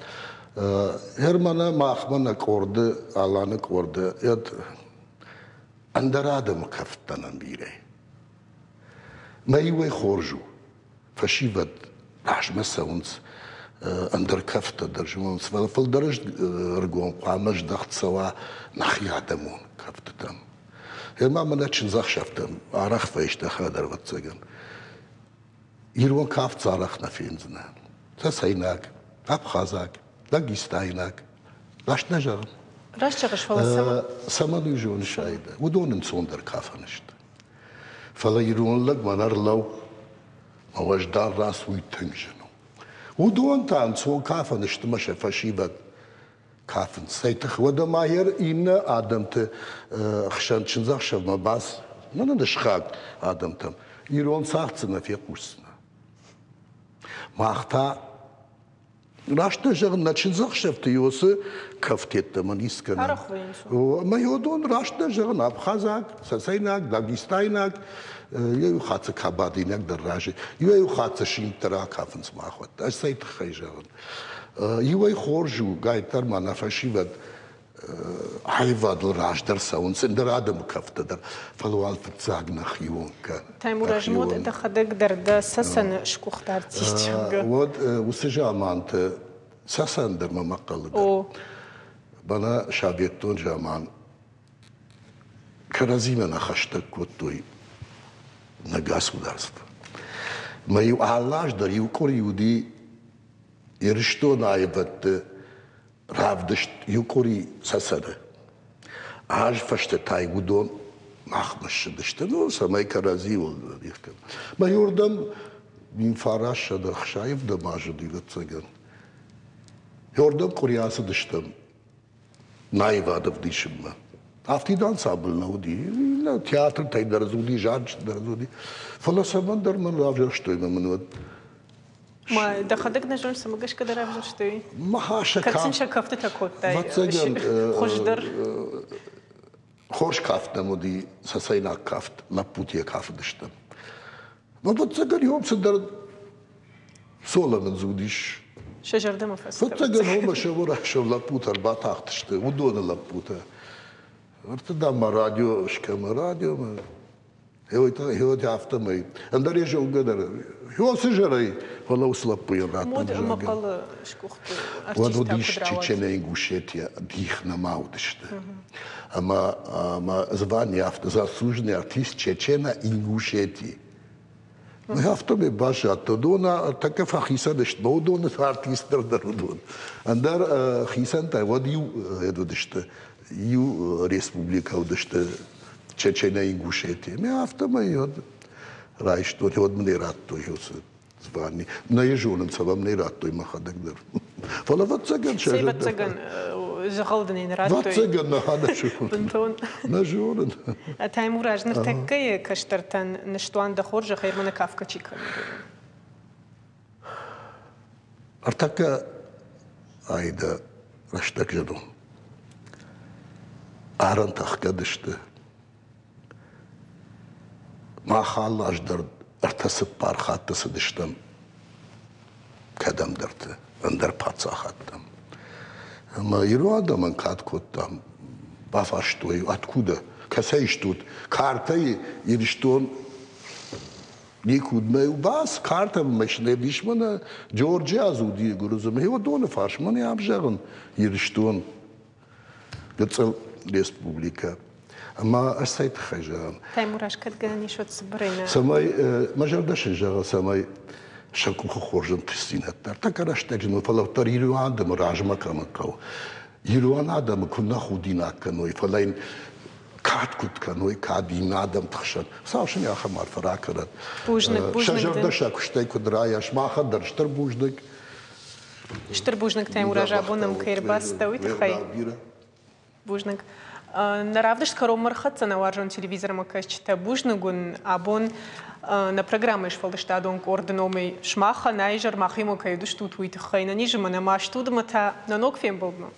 Германы махмӕ нӕ къорды, Аланы къорды, ӕндӕр адӕмы кӕфттӕ нӕм бирӕ. Мӕ иуӕй хорз у, фӕсивӕд размӕ цӕуынц, ӕндӕр кӕфттӕ дӕр зонынц, фӕлӕ фылдӕр ӕргом хъуамӕ здӕхт цӕуа нӕхи адӕмон кӕфтытӕм. Ӕмӕ мӕнӕ чындзӕхсӕвтӕм арӕх фӕисты дӕр, ӕвӕццӕгӕн. Ирон кафт дзы арӕх нӕ фендзынӕ. Цӕцӕйнаг, абхазаг, дагестайнаг. Раст нӕ зӕгъын? Раст зӕгъыс, фӕлӕ цӕмӕн? Цӕмӕн уый зоныс, Аидӕ? Уыдон ӕнцондӕр кафӕн сты. Фӕлӕ ирон лӕг мӕнӕ ӕрлӕуу, мӕ уӕздан рацу, уый тынг зын у. Уыдон та ӕнцон кафӕн сты мӕ сӕ фӕсивӕд кафынц. Цӕй тых, уӕдӕ ма йӕ иннӕ адӕмты хсӕн чындзӕхсӕвмӕ бац, мӕнӕ сыхаг адӕмтӕм, ирон цагъд дзы нӕ фехъусдзынӕ. Мах та, раст нӕ зӕгъын, нӕ чындзӕхсӕвты уыцы кӕфтеттӕ мӕ ницкӕнӕм. Арӕх вӕййынц. Ӕмӕ уыдон, раст нӕ зӕгъын, абхазаг, цӕцӕйнаг, дагестайнаг, иу хатт дзы кабардинаг дӕр разы, иуӕй-иу хатт дзы симд дӕр акафынц махуӕттӕ. Ӕз цӕй тыххӕй зӕгъын. Иуӕй хорз у, гайддӕр ма нӕ фӕсивӕд аивадыл раздӕр цӕуынц, ӕндӕр адӕмы кӕфтӕ дӕр, фӕлӕ уал фыццаг нӕхион кӕн. Таймураз, мод дӕхӕдӕг дӕр дӕ Цӕцӕны сгуыхт артист, зӕгъгӕ. Уӕд уыцы заманты Цӕцӕн дӕр мӕ мӕхъхъӕлы дӕр. Мӕнӕ советон заман кӕрӕдзимӕ нӕ хӕстӕг кодтой нӕ государство. Мӕ иу алы аз дӕр иу къуыри уыди Ирыстоны аивӕдты равдыст иу къуыри Цӕцӕны. Аз фӕстӕ та уыдон махмӕ ссыдысты, ну, цӕмӕй кӕрӕдзиуыл дих кӕнӕм. Мӕ иуырдӕм мин фарассӕдӕ ӕхсайӕвдӕм азы уыди, ӕвӕццӕгӕн. Иуырдӕм къуыри ацыдыстӕм аивад ӕвдисынмӕ. Афтид ансамбль нӕ уыди, театртӕй дӕр дзы уыди, зарджытӕ дӕр дзы уыди. Фӕлӕ цӕмӕндӕр мӕн равзӕрстой мӕ мын уӕд Ма дӕхӕдӕг нӕ зоныс, цӕмӕ гӕсгӕ дӕ равзӕрстой? Ма сӕ Кӕд сын сӕ кӕфтытӕ кодтай ӕвӕццӕгӕн, хуыздӕр? Хорз кафт нӕм уыди, цӕцӕйнаг кафт, лӕппутӕ кафыдыстӕм. Ӕвӕццӕгӕн, иом цыдӕр соло мын дзы уыдис. Сӕ зӕрдӕмӕ фӕцыд. Ӕвӕццӕгӕн, уымӕ сӕуырӕхсӕв лӕппутӕ ӕрбатахтысты, уыдоны лӕппутӕ. Ӕртӕ дам ма радио скӕмӕ, радиомӕ. Гъеуӕд афтӕмӕй. Ӕндӕр йӕ зонгӕ дӕр. Уыцы зӕрӕй, фӕлӕ уыцы лӕппуйӕн радтон Мод ӕмӕ зӕгъгӕ. хъӕлы сгуыхты Уӕд артисттӕ уыдис куыд рауад? Чеченӕ, Ингушетия дих нӕма уыдысты. Ӕмӕ ӕмӕ звание афтӕ заслуженный артист Чечена, Ингушетии. Афтӕмӕй баззадтӕн. Уыдон тӕккӕ фӕхицӕн сты, уыдоны артисттӕ дӕр уыдон. Ӕндӕр хицӕнтӕ уӕд иу уыдысты, иу республикӕ уыдысты Чеченӕ, Ингушетия. Мӕ афтӕмӕй уӕд райстон, уӕд мын ӕй радтой уыцы звание. Нӕ йӕ зонын, цӕмӕн ӕй радтой мӕхӕдӕг дӕр. Фӕлӕ ӕвӕццӕгӕн сӕ Цӕй зӕрдӕ ӕвӕццӕгӕн, дзӕгъӕл дын ӕй нӕ радтой. Ӕвӕццӕгӕн нӕ нӕ зонын. Бынтон. Нӕ зонын. Таймураз, ныртӕккӕйы кӕстӕртӕн ныстуан дӕ хорзӕхӕй, мӕнӕ кафгӕ чи кӕны, уыдонӕн. Ӕртӕккӕ Аидӕ рӕстӕг зын у. Арӕнтӕ ӕхгӕд сты. Мах алы аз дӕр ӕртӕ-цыппар хатты цыдыстӕм кӕдӕмдӕрты, ӕндӕр паддзахадтӕм. Ӕмӕ ирон адӕмӕн кад кодтам, бафарстой, откуда, кӕцӕй стут? Картӕйы Ирыстон Никуд мӕ бас картӕ машинӕ бисмӕ Джорджиа зуди гуырдзы доны фарсмӕ не абзӕгъын Ирыстон гыццыл республикӕ. Ӕмӕ ӕз цӕй тыххӕй зӕгъын? Таймураз, кӕд гӕнӕн ис, уӕд цыбырӕй нӕ. Цӕмӕй мӕ зӕрдӕ сын зӕгъы, цӕмӕй сӕ къухы хорз ӕнтыстдзинӕдтӕ. Ӕртӕккӕ рӕстӕджы ныл, фӕлӕ уӕддӕр ирон адӕмы размӕ кӕмӕн хъӕуы. Ирон адӕмы куы нӕ худинаг кӕной, фӕлӕ йын кад куыд кӕной, кад иннӕ адӕмты хсӕн. Хуыцау сын ахӕм арфӕ ракӕнӕд. Бузныг, бузныг. Сӕ зӕрдӕ сӕ куыстӕй куыд райа, сымахӕн дӕр стыр бузныг. Стыр бузныг, Таймураз, абон нӕм кӕй ӕрбацыдтӕ, уый тыххӕй. Бузныг. Нӕ равдыст кӕронмӕ ӕрхӕццӕ нӕ уарзон телевизормӕ кӕсджытӕ. Бузныг уын абон нӕ программӕйы сфӕлдыстадон къорды номӕй сымахӕн аизӕр махимӕ кӕй уыдыстут, уый тыххӕй. Нӕ низы мӕ нӕ маст удмӕ та нӕ ног фембӕлдмӕ.